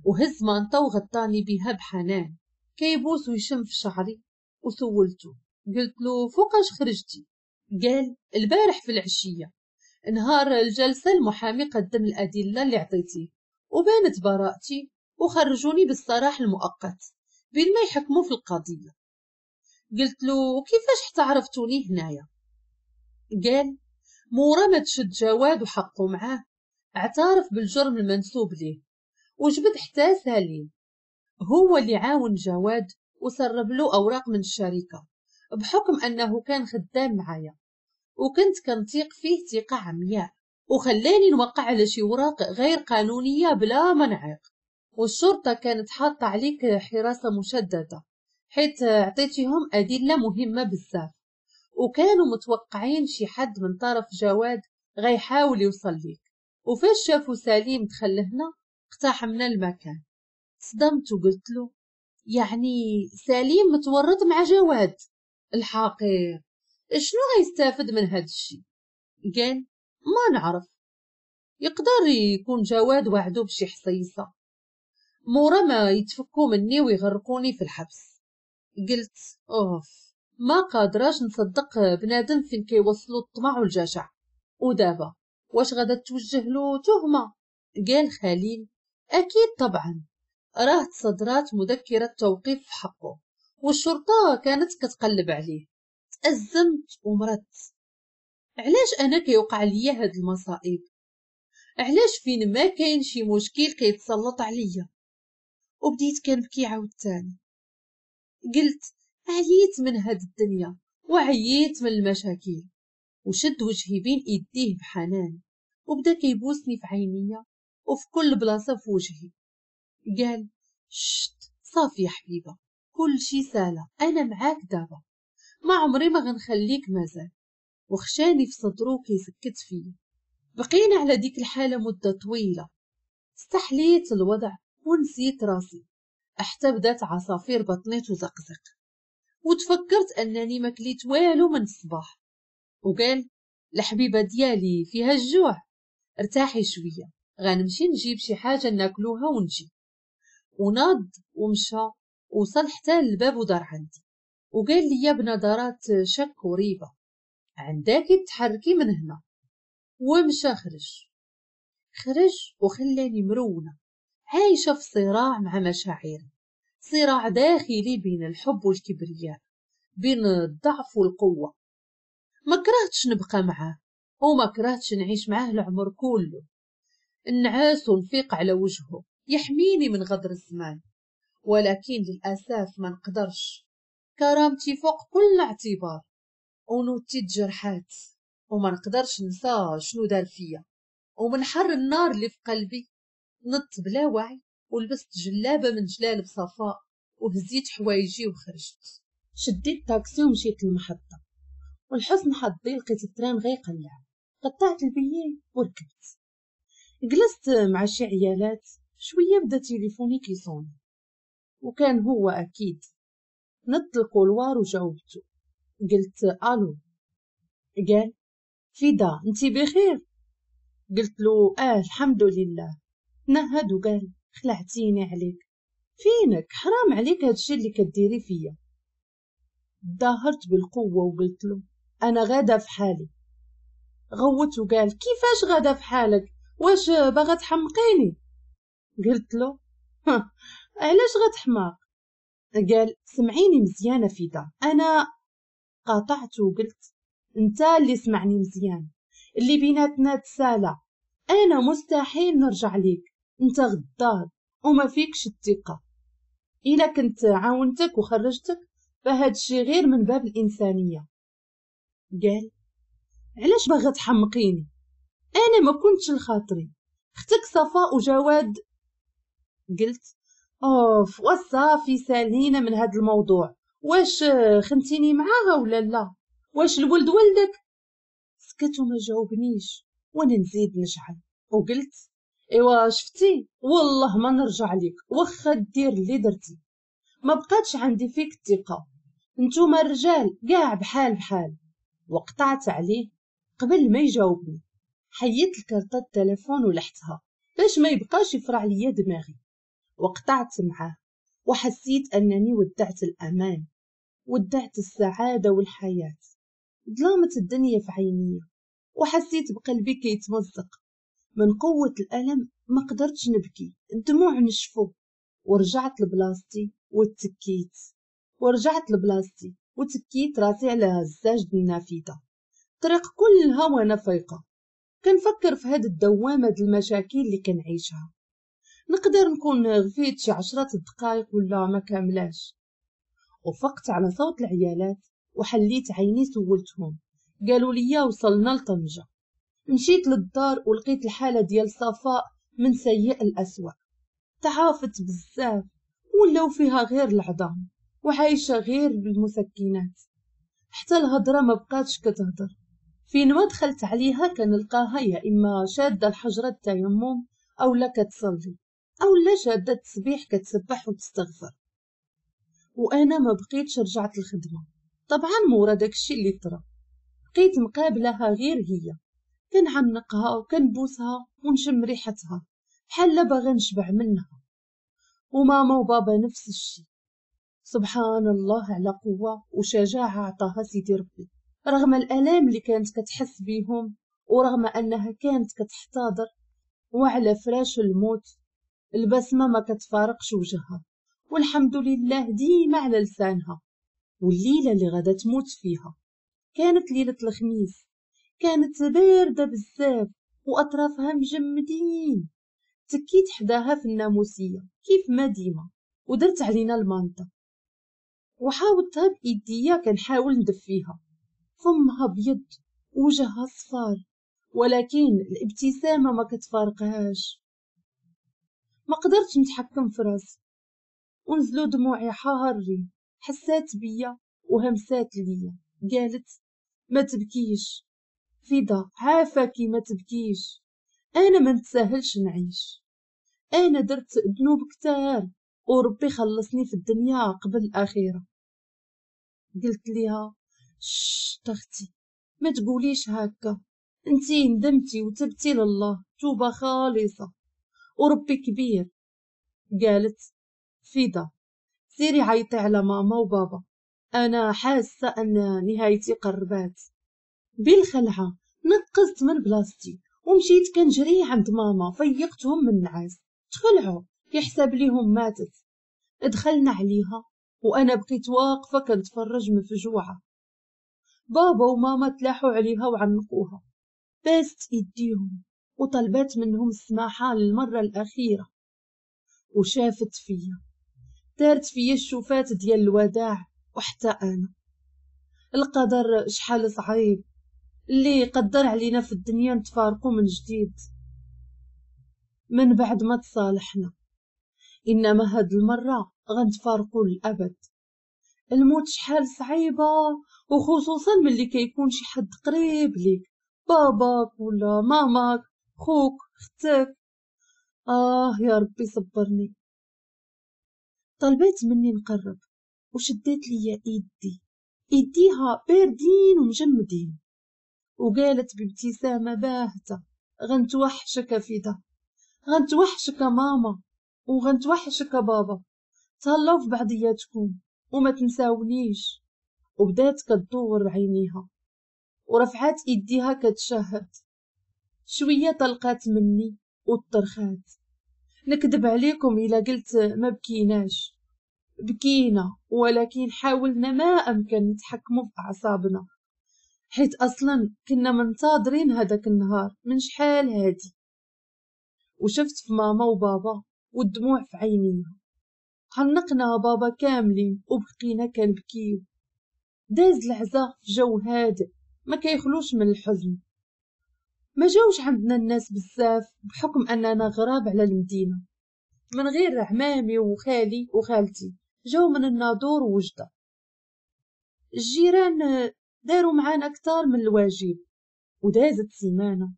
وهز مانطا وغطاني بها بحنان، كيبوس ويشم في شعري. وسولته قلت له فوقاش خرجتي؟ قال البارح في العشية، نهار الجلسة المحامي قدم الأدلة اللي عطيتيه وبانت براءتي وخرجوني بالسراح المؤقت بين ما يحكموا في القضية. قلت له كيفاش حتى عرفتوني هنايا؟ قال مورا ما تشد جواد وحقه معاه، اعترف بالجرم المنسوب ليه وجبد حتى سليم، هو اللي عاون جواد وسرب له أوراق من الشركة بحكم أنه كان خدام معايا وكنت كنثيق فيه ثقة عمياء، وخلاني نوقع على شي وراق غير قانونية بلا منعق. والشرطة كانت حاطة عليك حراسة مشددة حيث عطيتيهم أدلة مهمة بزاف، وكانوا متوقعين شي حد من طرف جواد غيحاول يوصل ليك. وفاش شافوا سليم دخل لهنا اقتحمنا المكان. صدمت وقلت له يعني سليم متورط مع جواد الحقير، شنو غيستافد من هاد الشي؟ قال ما نعرف، يقدر يكون جواد وعدو بشي حصيصة مورا ما يتفكوا مني ويغرقوني في الحبس. قلت اوف، ما قادراش نصدق بنادم فين كيوصلوا الطمع والجشع. ودابا واش غادا توجه له تهمة؟ قال خليل اكيد طبعا، راه تصدرات مذكرة توقيف في حقه والشرطة كانت كتقلب عليه. تأزمت ومرضت. علاش انا كيوقع ليا هاد المصائب؟ علاش فين ما كاين شي مشكل كيتسلط عليا؟ وبديت كنبكي عاوتاني. قلت عييت من هاد الدنيا وعييت من المشاكل. وشد وجهي بين ايديه بحنان وبدا كيبوسني في عينيا وفي كل بلاصة في وجهي. قال شت صافي يا حبيبه، كل شي ساله، انا معاك دابا، ما عمري ما غنخليك مازال. وخشاني في صدرو كيسكت فيا. بقينا على ديك الحالة مده طويلة. استحليت الوضع ونسيت راسي حتى بدات عصافير بطني تزقزق، وتفكرت انني ما كليت والو من الصباح. وقال الحبيبة ديالي فيها الجوع، ارتاحي شوية، غنمشي نجيب شي حاجة ناكلوها ونجي. وناض ومشى وصل حتى للباب ودار عندي وقال لي بنظرات شك وريبه عندك تحركي من هنا. ومشى خرج وخلاني مرونة عايشه في صراع مع مشاعري، صراع داخلي بين الحب والكبرياء، بين الضعف والقوه. ما كرهتش نبقى معاه وما كرهتش نعيش معاه العمر كله. النعاس ونفيق على وجهه يحميني من غدر الزمان، ولكن للأسف ما نقدرش، كرامتي فوق كل اعتبار ونوتي تجرحات وما نقدرش ننسى شنو دار فيا. ومن حر النار اللي في قلبي نط بلا وعي ولبست جلابه من جلالب صفاء وهزيت حوايجي وخرجت. شديت تاكسي ومشيت للمحطه، والحسن حظي لقيت ال train غيقلع. قطعت ال billet وركبت. جلست مع شي عيالات شوية، بدا تليفوني كيصوني وكان هو اكيد. نط ال couloir وجاوبته، قلت الو. قال فيدا انتي بخير؟ قلت له الحمد لله. نهد وقال خلعتيني عليك، فينك؟ حرام عليك هادشي اللي كديري فيا. ظاهرت بالقوة وقلت له انا غاده في حالي. غوت وقال كيفاش غاده في حالك؟ واش باغا تحمقيني؟ قلت له علاش غتحماق؟ قال سمعيني مزيانه فيدا. انا قاطعت وقلت انت اللي سمعني مزيان، اللي بيناتنا تسالى، انا مستحيل نرجع ليك، انت غدار وما فيكش الثقة. الا كنت عاونتك وخرجتك فهاد الشي غير من باب الانسانية. قال علاش باغا تحمقيني؟ انا ما كنتش لخاطري، اختك صفاء وجواد. قلت اوف وصافي سالينا من هاد الموضوع، واش خنتيني معاها ولا لا؟ واش الولد ولدك؟ سكت وما جاوبنيش، وانا نزيد نشعل وقلت ايوا شفتي والله ما نرجع لك واخا دير اللي درتي، ما بقاتش عندي فيك الثقة، نتوما الرجال كاع بحال بحال. وقطعت عليه قبل ما يجاوبني. حيدت الكارطه التليفون ولحتها باش ما يبقاش يفرع ليا دماغي، وقطعت معاه. وحسيت انني ودعت الامان، ودعت السعادة والحياة. ظلامت الدنيا في عيني وحسيت بقلبي كيتمزق من قوة الالم. ما قدرتش نبكي، الدموع نشفوا. ورجعت لبلاصتي وتكيت، ورجعت لبلاصتي وتكيت راسي على الزاج النافذة. الطريق كلها وانا فايقه كنفكر في هاد الدوامة د المشاكل اللي كنعيشها. نقدر نكون غفيت شي 10 دقائق ولا ما كاملاش. وفقت على صوت العيالات وحليت عيني، سولتهم، قالوا لي وصلنا لطنجه. مشيت للدار ولقيت الحالة ديال صفاء من سيء الأسوأ، تعافت بزاف ولاو فيها غير العظام وعايشة غير بالمسكنات، حتى الهضرة ما بقاتش كتهضر. فين ما دخلت عليها كنلقاها يا اما شاده الحجرة التيمم او لا كتصلي او لا شاده التسبيح كتسبح وتستغفر. وانا ما بقيتش رجعت الخدمة طبعا مورا داكشي اللي طرا، بقيت مقابلها غير هي، كنعنقها وكنبوسها ونشم ريحتها بحال باغا نشبع منها. وماما وبابا نفس الشيء. سبحان الله على قوة وشجاعة عطاها سيدي ربي، رغم الآلام اللي كانت كتحس بيهم ورغم أنها كانت كتحتضر وعلى فراش الموت، البسمة ما كتفارقش وجهها والحمد لله ديما على لسانها. والليلة اللي غادا تموت فيها كانت ليلة الخميس، كانت باردة بزاف وأطرافها مجمدين. تكيت حداها في الناموسية كيف ما ديما ودرت علينا المانطة وحاوطتها بإيديا كنحاول ندفيها. فمها بيض وجهها صفار، ولكن الابتسامة ما كتفارقهاش. ما قدرتش نتحكم في راسي ونزلوا دموعي حارين. حسات بيا وهمسات ليا، قالت ما تبكيش فدا، عافاكي ما تبكيش، انا ما نتساهلش نعيش، انا درت ذنوب كتار وربي خلصني في الدنيا قبل الاخرة. قلت ليها شت اختي ما تقوليش هكا، انتي ندمتي وتبتي لله توبه خالصة وربي كبير. قالت فدا سيري عيطي على ماما وبابا، انا حاسه ان نهايتي قربات. بالخلعه نقزت من بلاصتي ومشيت كنجري عند ماما، فيقتهم من النعاس، تخلعوا يحسب ليهم ماتت. دخلنا عليها وانا بقيت واقفة كنتفرج مفجوعه. بابا وماما تلاحوا عليها وعنقوها، باست ايديهم وطلبات منهم السماحة للمرة الاخيرة. وشافت فيا، دارت فيا الشوفات ديال الوداع. وحتى انا القدر شحال صعيب اللي قدر علينا في الدنيا نتفارقوا من جديد من بعد ما تصالحنا، انما هاد المرة غنتفارقوا للابد. الموت شحال صعيبة، وخصوصا ملي كيكون شي حد قريب ليك، باباك ولا ماماك، خوك، اختك. يا ربي صبرني. طلبت مني نقرب وشدت ليا ايدي، ايديها باردين ومجمدين، وقالت بابتسامة باهته غنتوحشك فدا، غنتوحشك ماما وغنتوحشك بابا، تهلاو في بعضياتكم وما تنساونيش. وبدات كتدور عينيها ورفعات ايديها كتشهد. شوية طلقات مني وطرخات. نكذب عليكم الا قلت ما بكيناش، بكينا، ولكن حاولنا ما امكن نتحكموا في اعصابنا، حيت اصلا كنا منتظرين هذاك النهار من شحال هادي. وشفت في ماما وبابا والدموع في عينيها، عنقنا بابا كاملين وبقينا كنبكيو. داز العزا في جو هادئ ما كيخلوش من الحزن. ما جاوش عندنا الناس بزاف بحكم اننا غراب على المدينة، من غير عمامي وخالي وخالتي جاو من الناظور ووجده. الجيران داروا معانا اكثر من الواجب، ودازت سيمانة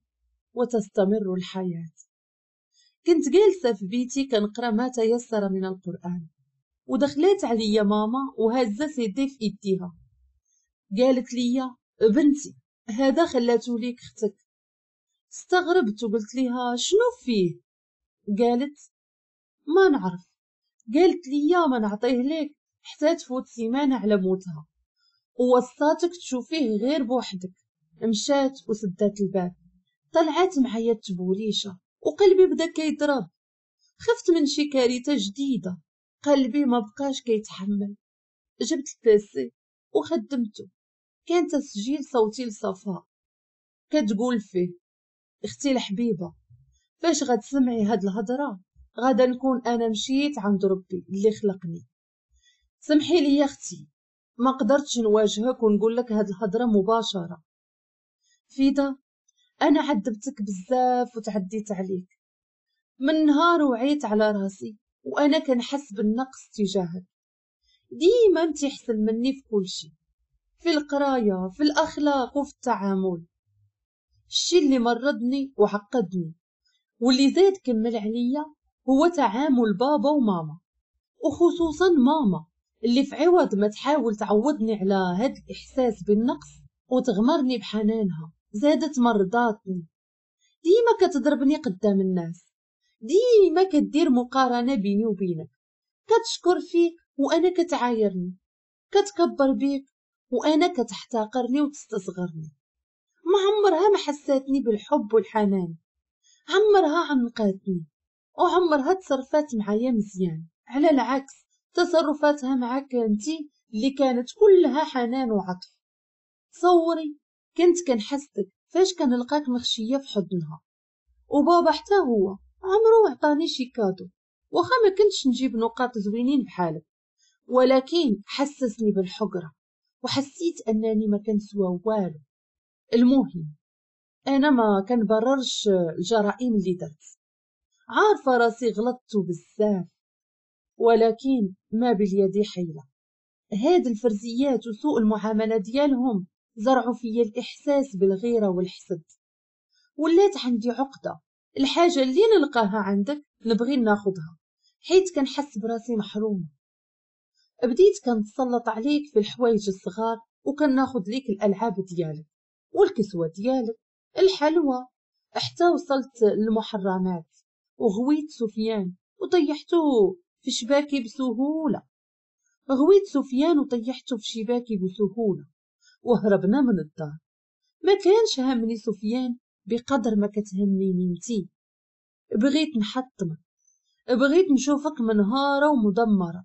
وتستمر الحياة. كنت جالسة في بيتي كنقرا ما تيسر من القرآن، ودخلت عليا ماما وهزة سيدي في ايديها. قالت لي بنتي هذا خلاتو ليك اختك. استغربت وقلت لها شنو فيه؟ قالت ما نعرف. قالت لي ما نعطيه لك حتى تفوت سيمانة على موتها، ووصاتك تشوفيه غير بوحدك. مشات وسدات الباب. طلعت معايا التبوليشه وقلبي بدا كيضرب. خفت من شي كارثة جديدة، قلبي ما بقاش كيتحمل. جبت ال PC وخدمته، كان تسجيل صوتي لصفاء كتقول فيه اختي الحبيبة فاش غتسمعي هاد الهضرة غادا نكون انا مشيت عند ربي اللي خلقني. سمحي لي يا اختي ما قدرتش نواجهك ونقول لك هاد الهضرة مباشرة. فيدا انا عذبتك بزاف وتعديت عليك من نهار وعيت على راسي وانا كنحس بالنقص تجاهك. ديما انت احسن مني في كل شيء، في القراية، في الاخلاق، وفي التعامل. الشيء اللي مرضني وعقدني واللي زاد كمل عليا هو تعامل بابا وماما، وخصوصا ماما اللي في عوض ما تحاول تعوضني على هاد الاحساس بالنقص وتغمرني بحنانها زادت مرضاتني. ديما كتضربني قدام الناس، ديما كدير مقارنة بيني وبينك، كتشكر فيك وانا كتعايرني، كتكبر بيك وانا كتحتقرني وتستصغرني. ما عمرها ما حساتني بالحب والحنان، عمرها عنقاتني وعمرها تصرفات معايا مزيان. على العكس تصرفاتها معاك انتي اللي كانت كلها حنان وعطف. تصوري كنت كنحسدك فاش كنلقاك مخشيه في حضنها. وبابا حتى هو عمرو عطاني شي cadeau، واخا ما كنتش نجيب نقاط زوينين بحالك، ولكن حسسني بالحقره وحسيت انني ما كنسوى والو. المهم انا ما كنبررش الجرائم اللي درت، عارفه راسي غلطت بزاف، ولكن ما باليد حيله. هاد الفرزيات وسوء المعاملة ديالهم زرعوا فيا الاحساس بالغيره والحسد. ولات عندي عقده، الحاجة اللي نلقاها عندك نبغي ناخذها حيت كنحس براسي محرومة. بديت كنتسلط عليك في الحوايج الصغار وكناخذ ليك الالعاب ديالك والكسوة ديالك الحلوى، حتى وصلت للمحرمات وغويت سفيان وطيحته في شباكي بسهولة. غويت سفيان وطيحته في شباكي بسهولة وهربنا من الدار. ما كانش همني سفيان بقدر ما كتهمنيني انتي. بغيت نحطمك، بغيت نشوفك منهارة ومدمرة،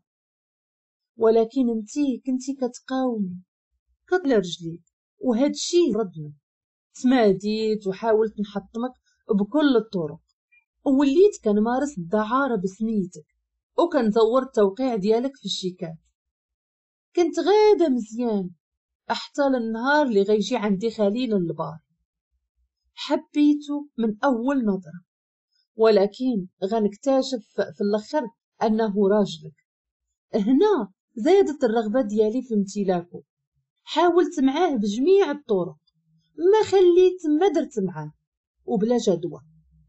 ولكن انتي كنتي كتقاومي كتلا رجليك وهاد الشي ردني. تماديت وحاولت نحطمك بكل الطرق، ووليت كنمارس الدعارة بسميتك وكنزور التوقيع ديالك في الشيكات. كنت غاده مزيان حتى للنهار اللي غيجي عندي خليل البار. حبيته من اول نظره، ولكن غنكتشف في الاخر انه راجلك. هنا زادت الرغبة ديالي في امتلاكه. حاولت معاه بجميع الطرق، ما خليت ما درت معاه وبلا جدوى.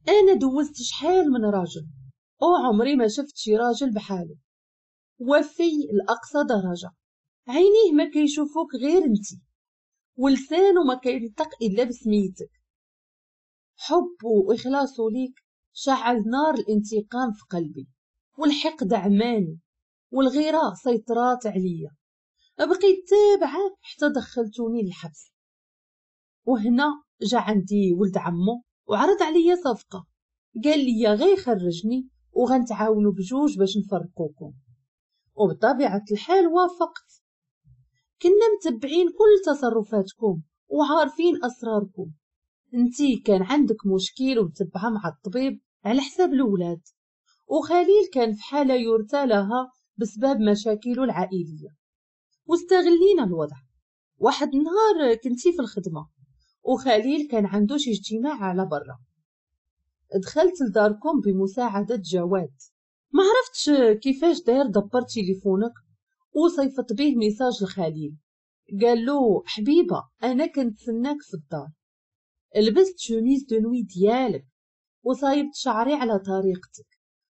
انا دوزت شحال من راجل وعمري ما شفت شي راجل بحاله، وفي لاقصى درجه. عينيه ما كيشوفوك غير انتي، ولسانه ما كينطق الا بسميتك. حبه واخلاصه ليك شعل نار الانتقام في قلبي، والحقد عماني والغيرة سيطرات عليا. بقيت تابعه حتى دخلتوني للحبس. وهنا جا عندي ولد عمو وعرض عليا صفقة، قال لي غير خرجني وغنتعاونوا بجوج باش نفرقوكم، وبطبيعة الحال وافقت. كنا متبعين كل تصرفاتكم وعارفين اسراركم. انتي كان عندك مشكل ومتبعه مع الطبيب على حساب الاولاد، وخليل كان في حاله يرثى لها بسبب مشاكله العائلية، واستغلينا الوضع. واحد النهار كنتي في الخدمة وخليل كان عنده شي اجتماع على برا. دخلت لداركم بمساعدة جواد، ما عرفتش كيفاش داير، دبر تليفونك وصيفط به message لخليل، قال له حبيبه انا كنتسناك في الدار. لبست chemise de nuit ديالك وصايبت شعري على طريقتك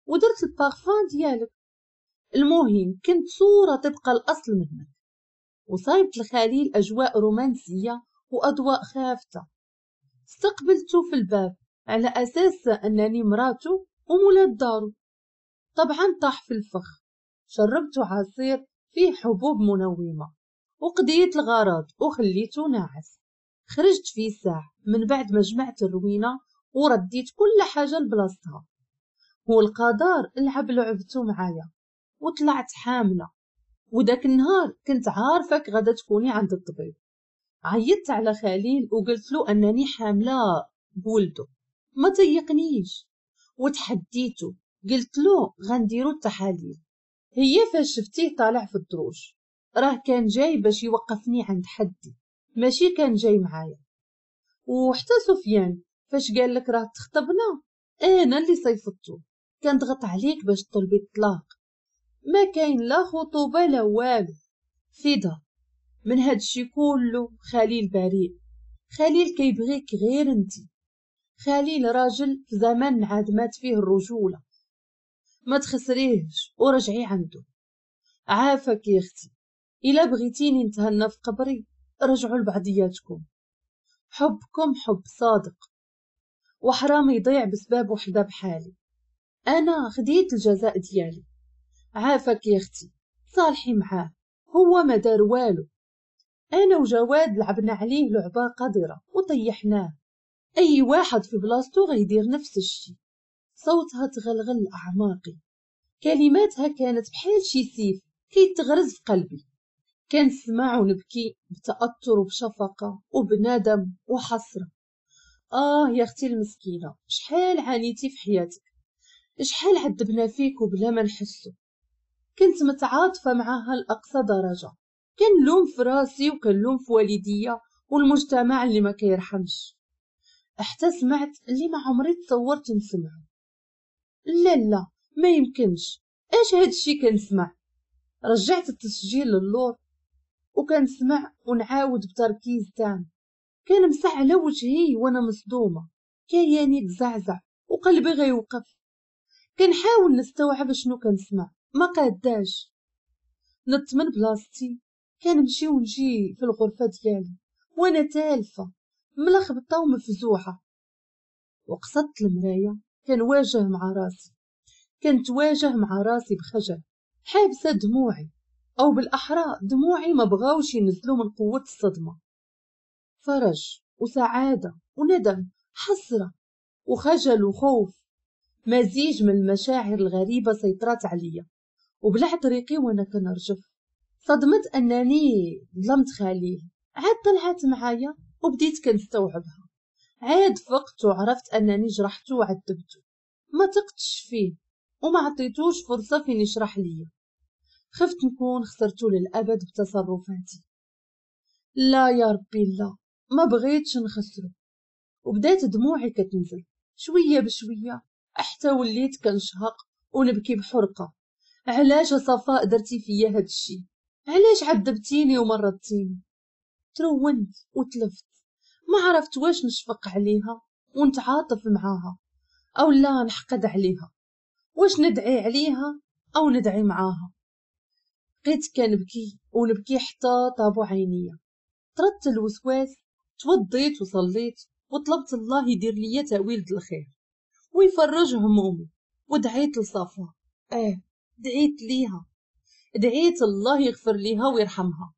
ودرت البارفان ديالك. المهم كنت صورة طبق الأصل منك. وصايبت الخليل أجواء رومانسية وأضواء خافتة. استقبلته في الباب على أساس أنني مراته ومولات دارو. طبعا طاح في الفخ. شربته عصير فيه حبوب منومة وقضيت الغرض وخليته ناعس. خرجت في ساعة من بعد ما جمعت الروينة ورديت كل حاجة لبلاصتها. هو القدر لعب لعبته معايا وطلعت حاملة. وداك النهار كنت عارفك غادا تكوني عند الطبيب. عيطت على خليل وقلت له أنني حاملة بولده، ما تيقنيش وتحديته، قلت له غنديرو التحاليل. هي فاش شفتيه طالع في الدروج راه كان جاي باش يوقفني عند حدي، ماشي كان جاي معايا. وحتى سفيان فاش قال لك راه تخطبنا انا اللي صيفطته، كان ضغط عليك باش تطلبي الطلاق. ما كاين لا خطوبه لا والو. فدا من هادشي كله خليل بريء. خليل كيبغيك غير انتي. خليل راجل في زمن عاد مات فيه الرجوله، ما تخسريهش ورجعي عنده. عافاك يا اختي، الا بغيتيني نتهنى في قبري رجعوا لبعضياتكم. حبكم حب صادق وحرام يضيع بسبب وحده بحالي. انا خديت الجزاء ديالي. عافاك يا اختي صالحي معاه، هو ما دار والو. انا وجواد لعبنا عليه لعبه قذره وطيحناه. اي واحد في بلاصتو غيدير نفس الشي. صوتها تغلغل اعماقي، كلماتها كانت بحال شي سيف كيتغرز في قلبي. كنسمع ونبكي بتأثر وبشفقة وبندم وحسرة. آه يا أختي المسكينة، شحال عانيتي في حياتك، شحال عذبنا فيك وبلا ما نحسو. كنت متعاطفة معاها لأقصى درجة. كنلوم في راسي وكنلوم في والديا والمجتمع اللي ما كيرحمش. حتى سمعت اللي ما عمري تصورت نسمعه. لا لا ما يمكنش، اش هادشي كنسمع؟ رجعت التسجيل للور وكنسمع ونعاود بتركيز تام. كنمسح على وجهي وانا مصدومه، كياني تزعزع وقلبي غيوقف. كنحاول نستوعب شنو كنسمع، ما قاداش. نط من بلاصتي كنمشي ونجي في الغرفه ديالي وانا تالفه ملخبطه ومفزوعه. وقصدت المرايه كنواجه مع راسي، كنتواجه مع راسي بخجل، حابسه دموعي، او بالاحرى دموعي ما بغاوش ينزلوا من قوه الصدمه. فرج وسعاده وندم، حسره وخجل وخوف، مزيج من المشاعر الغريبه سيطرت عليا. وبلعت ريقي وانا كنرجف. صدمت انني ظلمت خليل. عاد طلعت معايا وبديت كنستوعبها. عاد فقت وعرفت انني جرحته وعذبته، ما تقتش فيه وما عطيتوش فرصه فين يشرح ليا. خفت نكون خسرته للأبد بتصرفاتي. لا يا ربي لا، ما بغيتش نخسره. وبدات دموعي كتنزل شوية بشوية حتى وليت كنشهق ونبكي بحرقة. علاش صفاء درتي فيا هادشي؟ علاش عذبتيني ومرضتيني؟ ترونت وتلفت، ما عرفت واش نشفق عليها ونتعاطف معاها او لا نحقد عليها، واش ندعي عليها او ندعي معاها. بقيت كنبكي ونبكي حتى طابو عينيا. طردت الوسواس، توضيت وصليت وطلبت الله يدير ليا تاويل الخير ويفرج همومي. ودعيت لصفاء، دعيت ليها، دعيت الله يغفر ليها ويرحمها،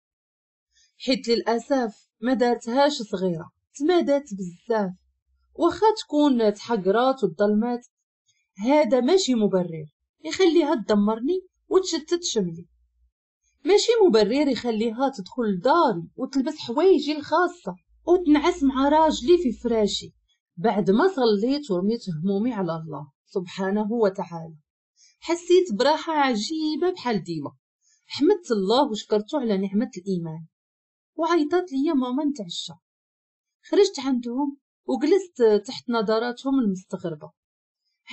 حيت للاسف ما دارتهاش صغيره، تمادات بزاف. واخا تكون تحقرات وتظلمات، هذا ماشي مبرر يخليها تدمرني وتشتت شملي. ماشي مبرر يخليها تدخل لداري وتلبس حوايجي الخاصة وتنعس مع راجلي في فراشي. بعد ما صليت ورميت همومي على الله سبحانه وتعالى، حسيت براحة عجيبة بحال ديما. حمدت الله وشكرته على نعمة الإيمان. وعيطت لي ماما نتعشى. خرجت عندهم وجلست تحت نظراتهم المستغربة،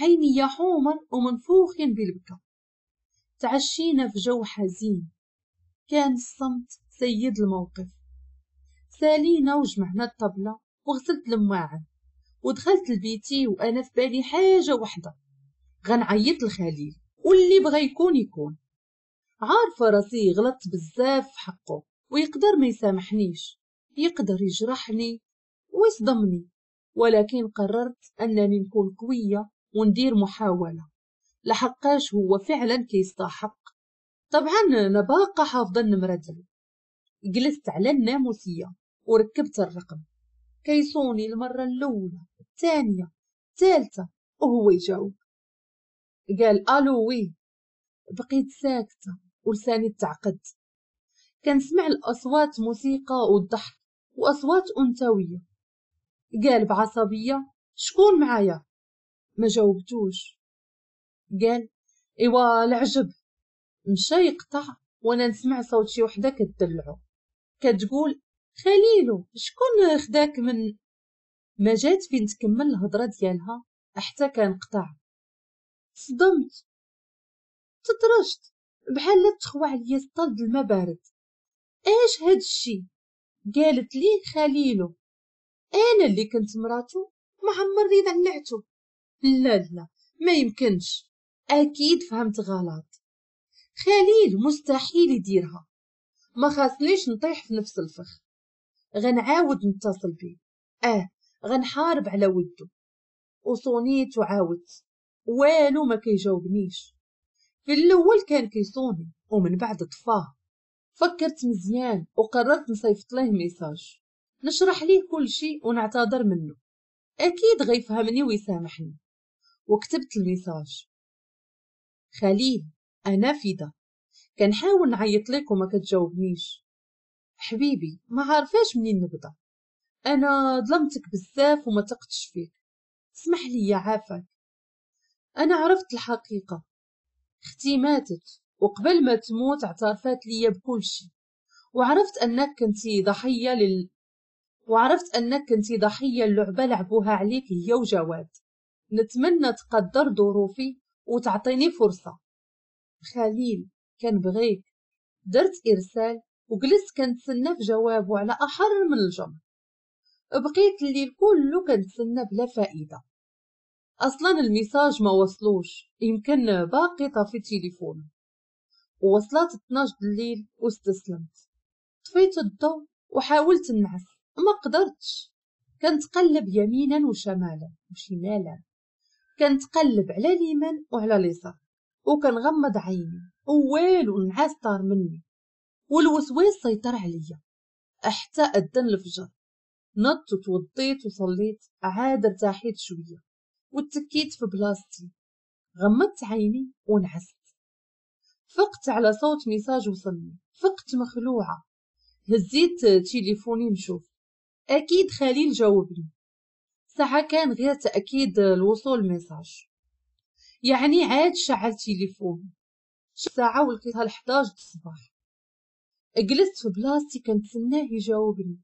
عيني حمر ومنفوخين بالبكا. تعشينا في جو حزين، كان الصمت سيد الموقف. سالينا وجمعنا الطبلة وغسلت المواعن ودخلت لبيتي وانا في بالي حاجة وحده، غنعيط لخليل واللي بغى يكون يكون. عارفه راسي غلطت بزاف في حقه ويقدر ما يسامحنيش، يقدر يجرحني ويصدمني، ولكن قررت انني نكون قوية وندير محاولة لحقاش هو فعلا كيستحق. طبعا انا باقا حافظه النمرة ديالو. جلست على الناموسيه وركبت الرقم، كيصوني المرة الاولى الثانية الثالثة وهو يجاوب. قال الو oui. بقيت ساكته ولساني تعقد، كنسمع الاصوات موسيقى والضحك واصوات انثويه. قال بعصبيه شكون معايا؟ ما جاوبتوش. قال ايوا العجب. مشى يقطع وانا نسمع صوت شي وحده كتدلعو كتقول خليلو شكون خداك من. ما جات فين تكمل الهضرة ديالها حتى كان قطع. صدمت تطرشت بحال تخوى عليا سطل د الماء بارد. اش هاد الشي؟ قالت لي خليلو انا اللي كنت مراتو ما عمرني دلعتو. لا لا ما يمكنش، اكيد فهمت غلط. خليل مستحيل يديرها، ما خاصنيش نطيح في نفس الفخ. غنعاود نتصل بيه، غنحارب على ودو. وصونيت وعاودت والو ما كيجاوبنيش. في الاول كان كيصوني ومن بعد طفاه. فكرت مزيان وقررت نصيفط ليه message نشرح ليه كل شيء ونعتذر منه، اكيد غيفهمني ويسامحني. وكتبت ال message: خليل انا فدا، كنحاول نعيط لك وما كتجاوبنيش. حبيبي ما عارفاش منين نبدا، انا ظلمتك بزاف وما تقتش فيك، اسمح لي يا عافاك. انا عرفت الحقيقة، اختي ماتت وقبل ما تموت اعترفت لي بكل شيء، وعرفت انك كنتي ضحية اللعبة لعبوها عليك هي وجواد. نتمنى تقدر ظروفي وتعطيني فرصة. خليل كنبغيك. درت ارسال وجلست كنتسنى في جوابه على احر من الجمر. بقيت الليل كله كنتسنى بلا فائدة. اصلا ال message ما وصلوش، يمكن باقي طافي تليفون. ووصلت 12 الليل واستسلمت، طفيت الضوء وحاولت نعس ما قدرتش. كنتقلب يمينا وشمالا وشمالا، كنتقلب على اليمين وعلى اليسار وكنغمض عيني ووالو النعاس طار مني والوسواس سيطر عليا حتى اذن الفجر. نضت وتوضيت وصليت، عاد ارتاحيت شوية وتكيت في بلاصتي، غمضت عيني ونعست. فقت على صوت message وصلني، فقت مخلوعه. هزيت تليفوني نشوف، اكيد خليل جاوبني. ساعة كان غير تاكيد الوصول message، يعني عاد شعل تليفون. ساعة ولقيتها 11 الصباح. جلست في بلاصتي كنتسناه يجاوبني.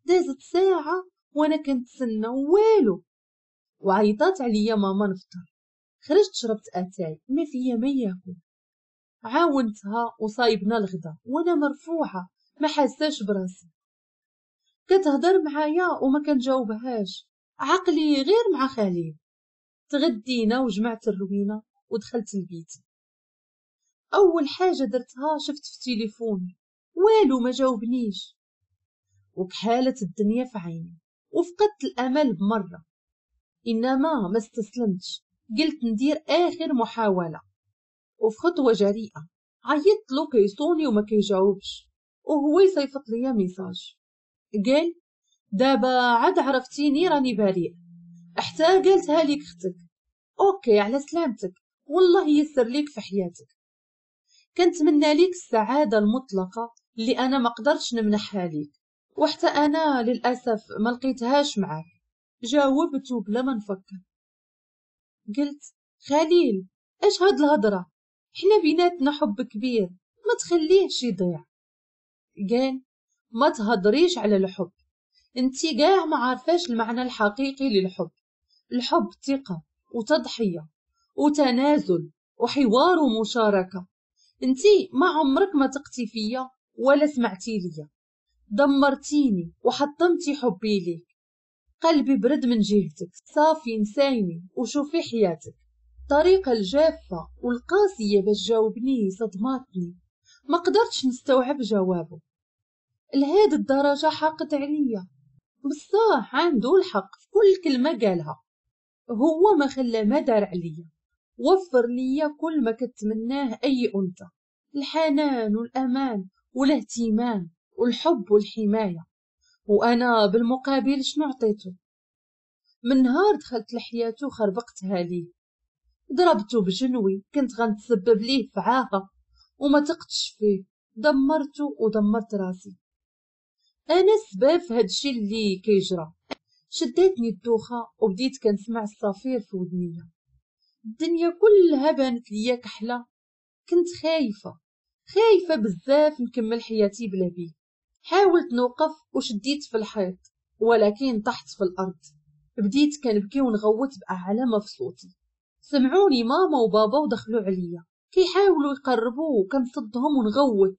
دازت ساعة وانا كنتسنى والو. وعيطات عليا ماما نفطر. خرجت شربت اتاي ما فيا ما ياكل. عاونتها وصايبنا الغدا وانا مرفوعة ما حاساش براسي. كتهضر معايا وما كنجاوبهاش، عقلي غير مع خليل. تغدينا وجمعت الروينه ودخلت البيت. اول حاجة درتها شفت في تليفوني والو ما جاوبنيش. وكحالت الدنيا في عيني وفقدت الامل بمرة. انما ما استسلمتش، قلت ندير اخر محاولة. وفي خطوة جريئة عيطت له كيصوني وما كيجاوبش، وهو يصيفط ليا message قال دابا عاد عرفتيني راني بريء، حتى قالتها ليك اختك. OK على سلامتك، والله يسر ليك في حياتك. كنتمنى ليك السعادة المطلقة اللي انا ما قدرتش نمنحها ليك، وحتى انا للاسف ما لقيتهاش معاك. جاوبت بلا ما نفكر، قلت خليل اش هاد الهضرة، حنا بيناتنا حب كبير ما تخليهش يضيع. قال ما تهضريش على الحب، انتي كاع ما عارفاش المعنى الحقيقي للحب. الحب ثقة وتضحية وتنازل وحوار ومشاركة. انتي ما عمرك ما تقتي فيا ولا سمعتي ليا، دمرتيني وحطمتي حبي ليك. قلبي برد من جهتك، صافي نسايني وشوفي حياتك. الطريقة الجافة والقاسية باش جاوبني صدماتني، ما قدرتش نستوعب جوابه. لهاد الدرجة حاقد عليا؟ بصح عنده الحق في كل كلمة قالها. هو ما خلى ما دار عليا، وفر ليا كل ما كتمناه أي أنثى، الحنان والأمان والاهتمام والحب والحماية، وأنا بالمقابل شنو عطيته؟ من نهار دخلت لحياته خربقتها ليه، ضربته بجنوي، كنت غنتسبب ليه في عاهة وما تقتش فيه، دمرته ودمرت راسي. انا السبب في هادشي اللي كيجرى. شدتني الدوخه وبديت كنسمع الصفير في ودنيا، الدنيا كلها بانت ليا كحله. كنت خايفة خايفة بزاف نكمل حياتي بلا بيه. حاولت نوقف وشديت في الحيط، ولكن طحت في الارض. بديت كنبكي ونغوت باعلى ما في صوتي. سمعوني ماما وبابا ودخلوا عليا كيحاولوا يقربوا، وكنصدهم ونغوت.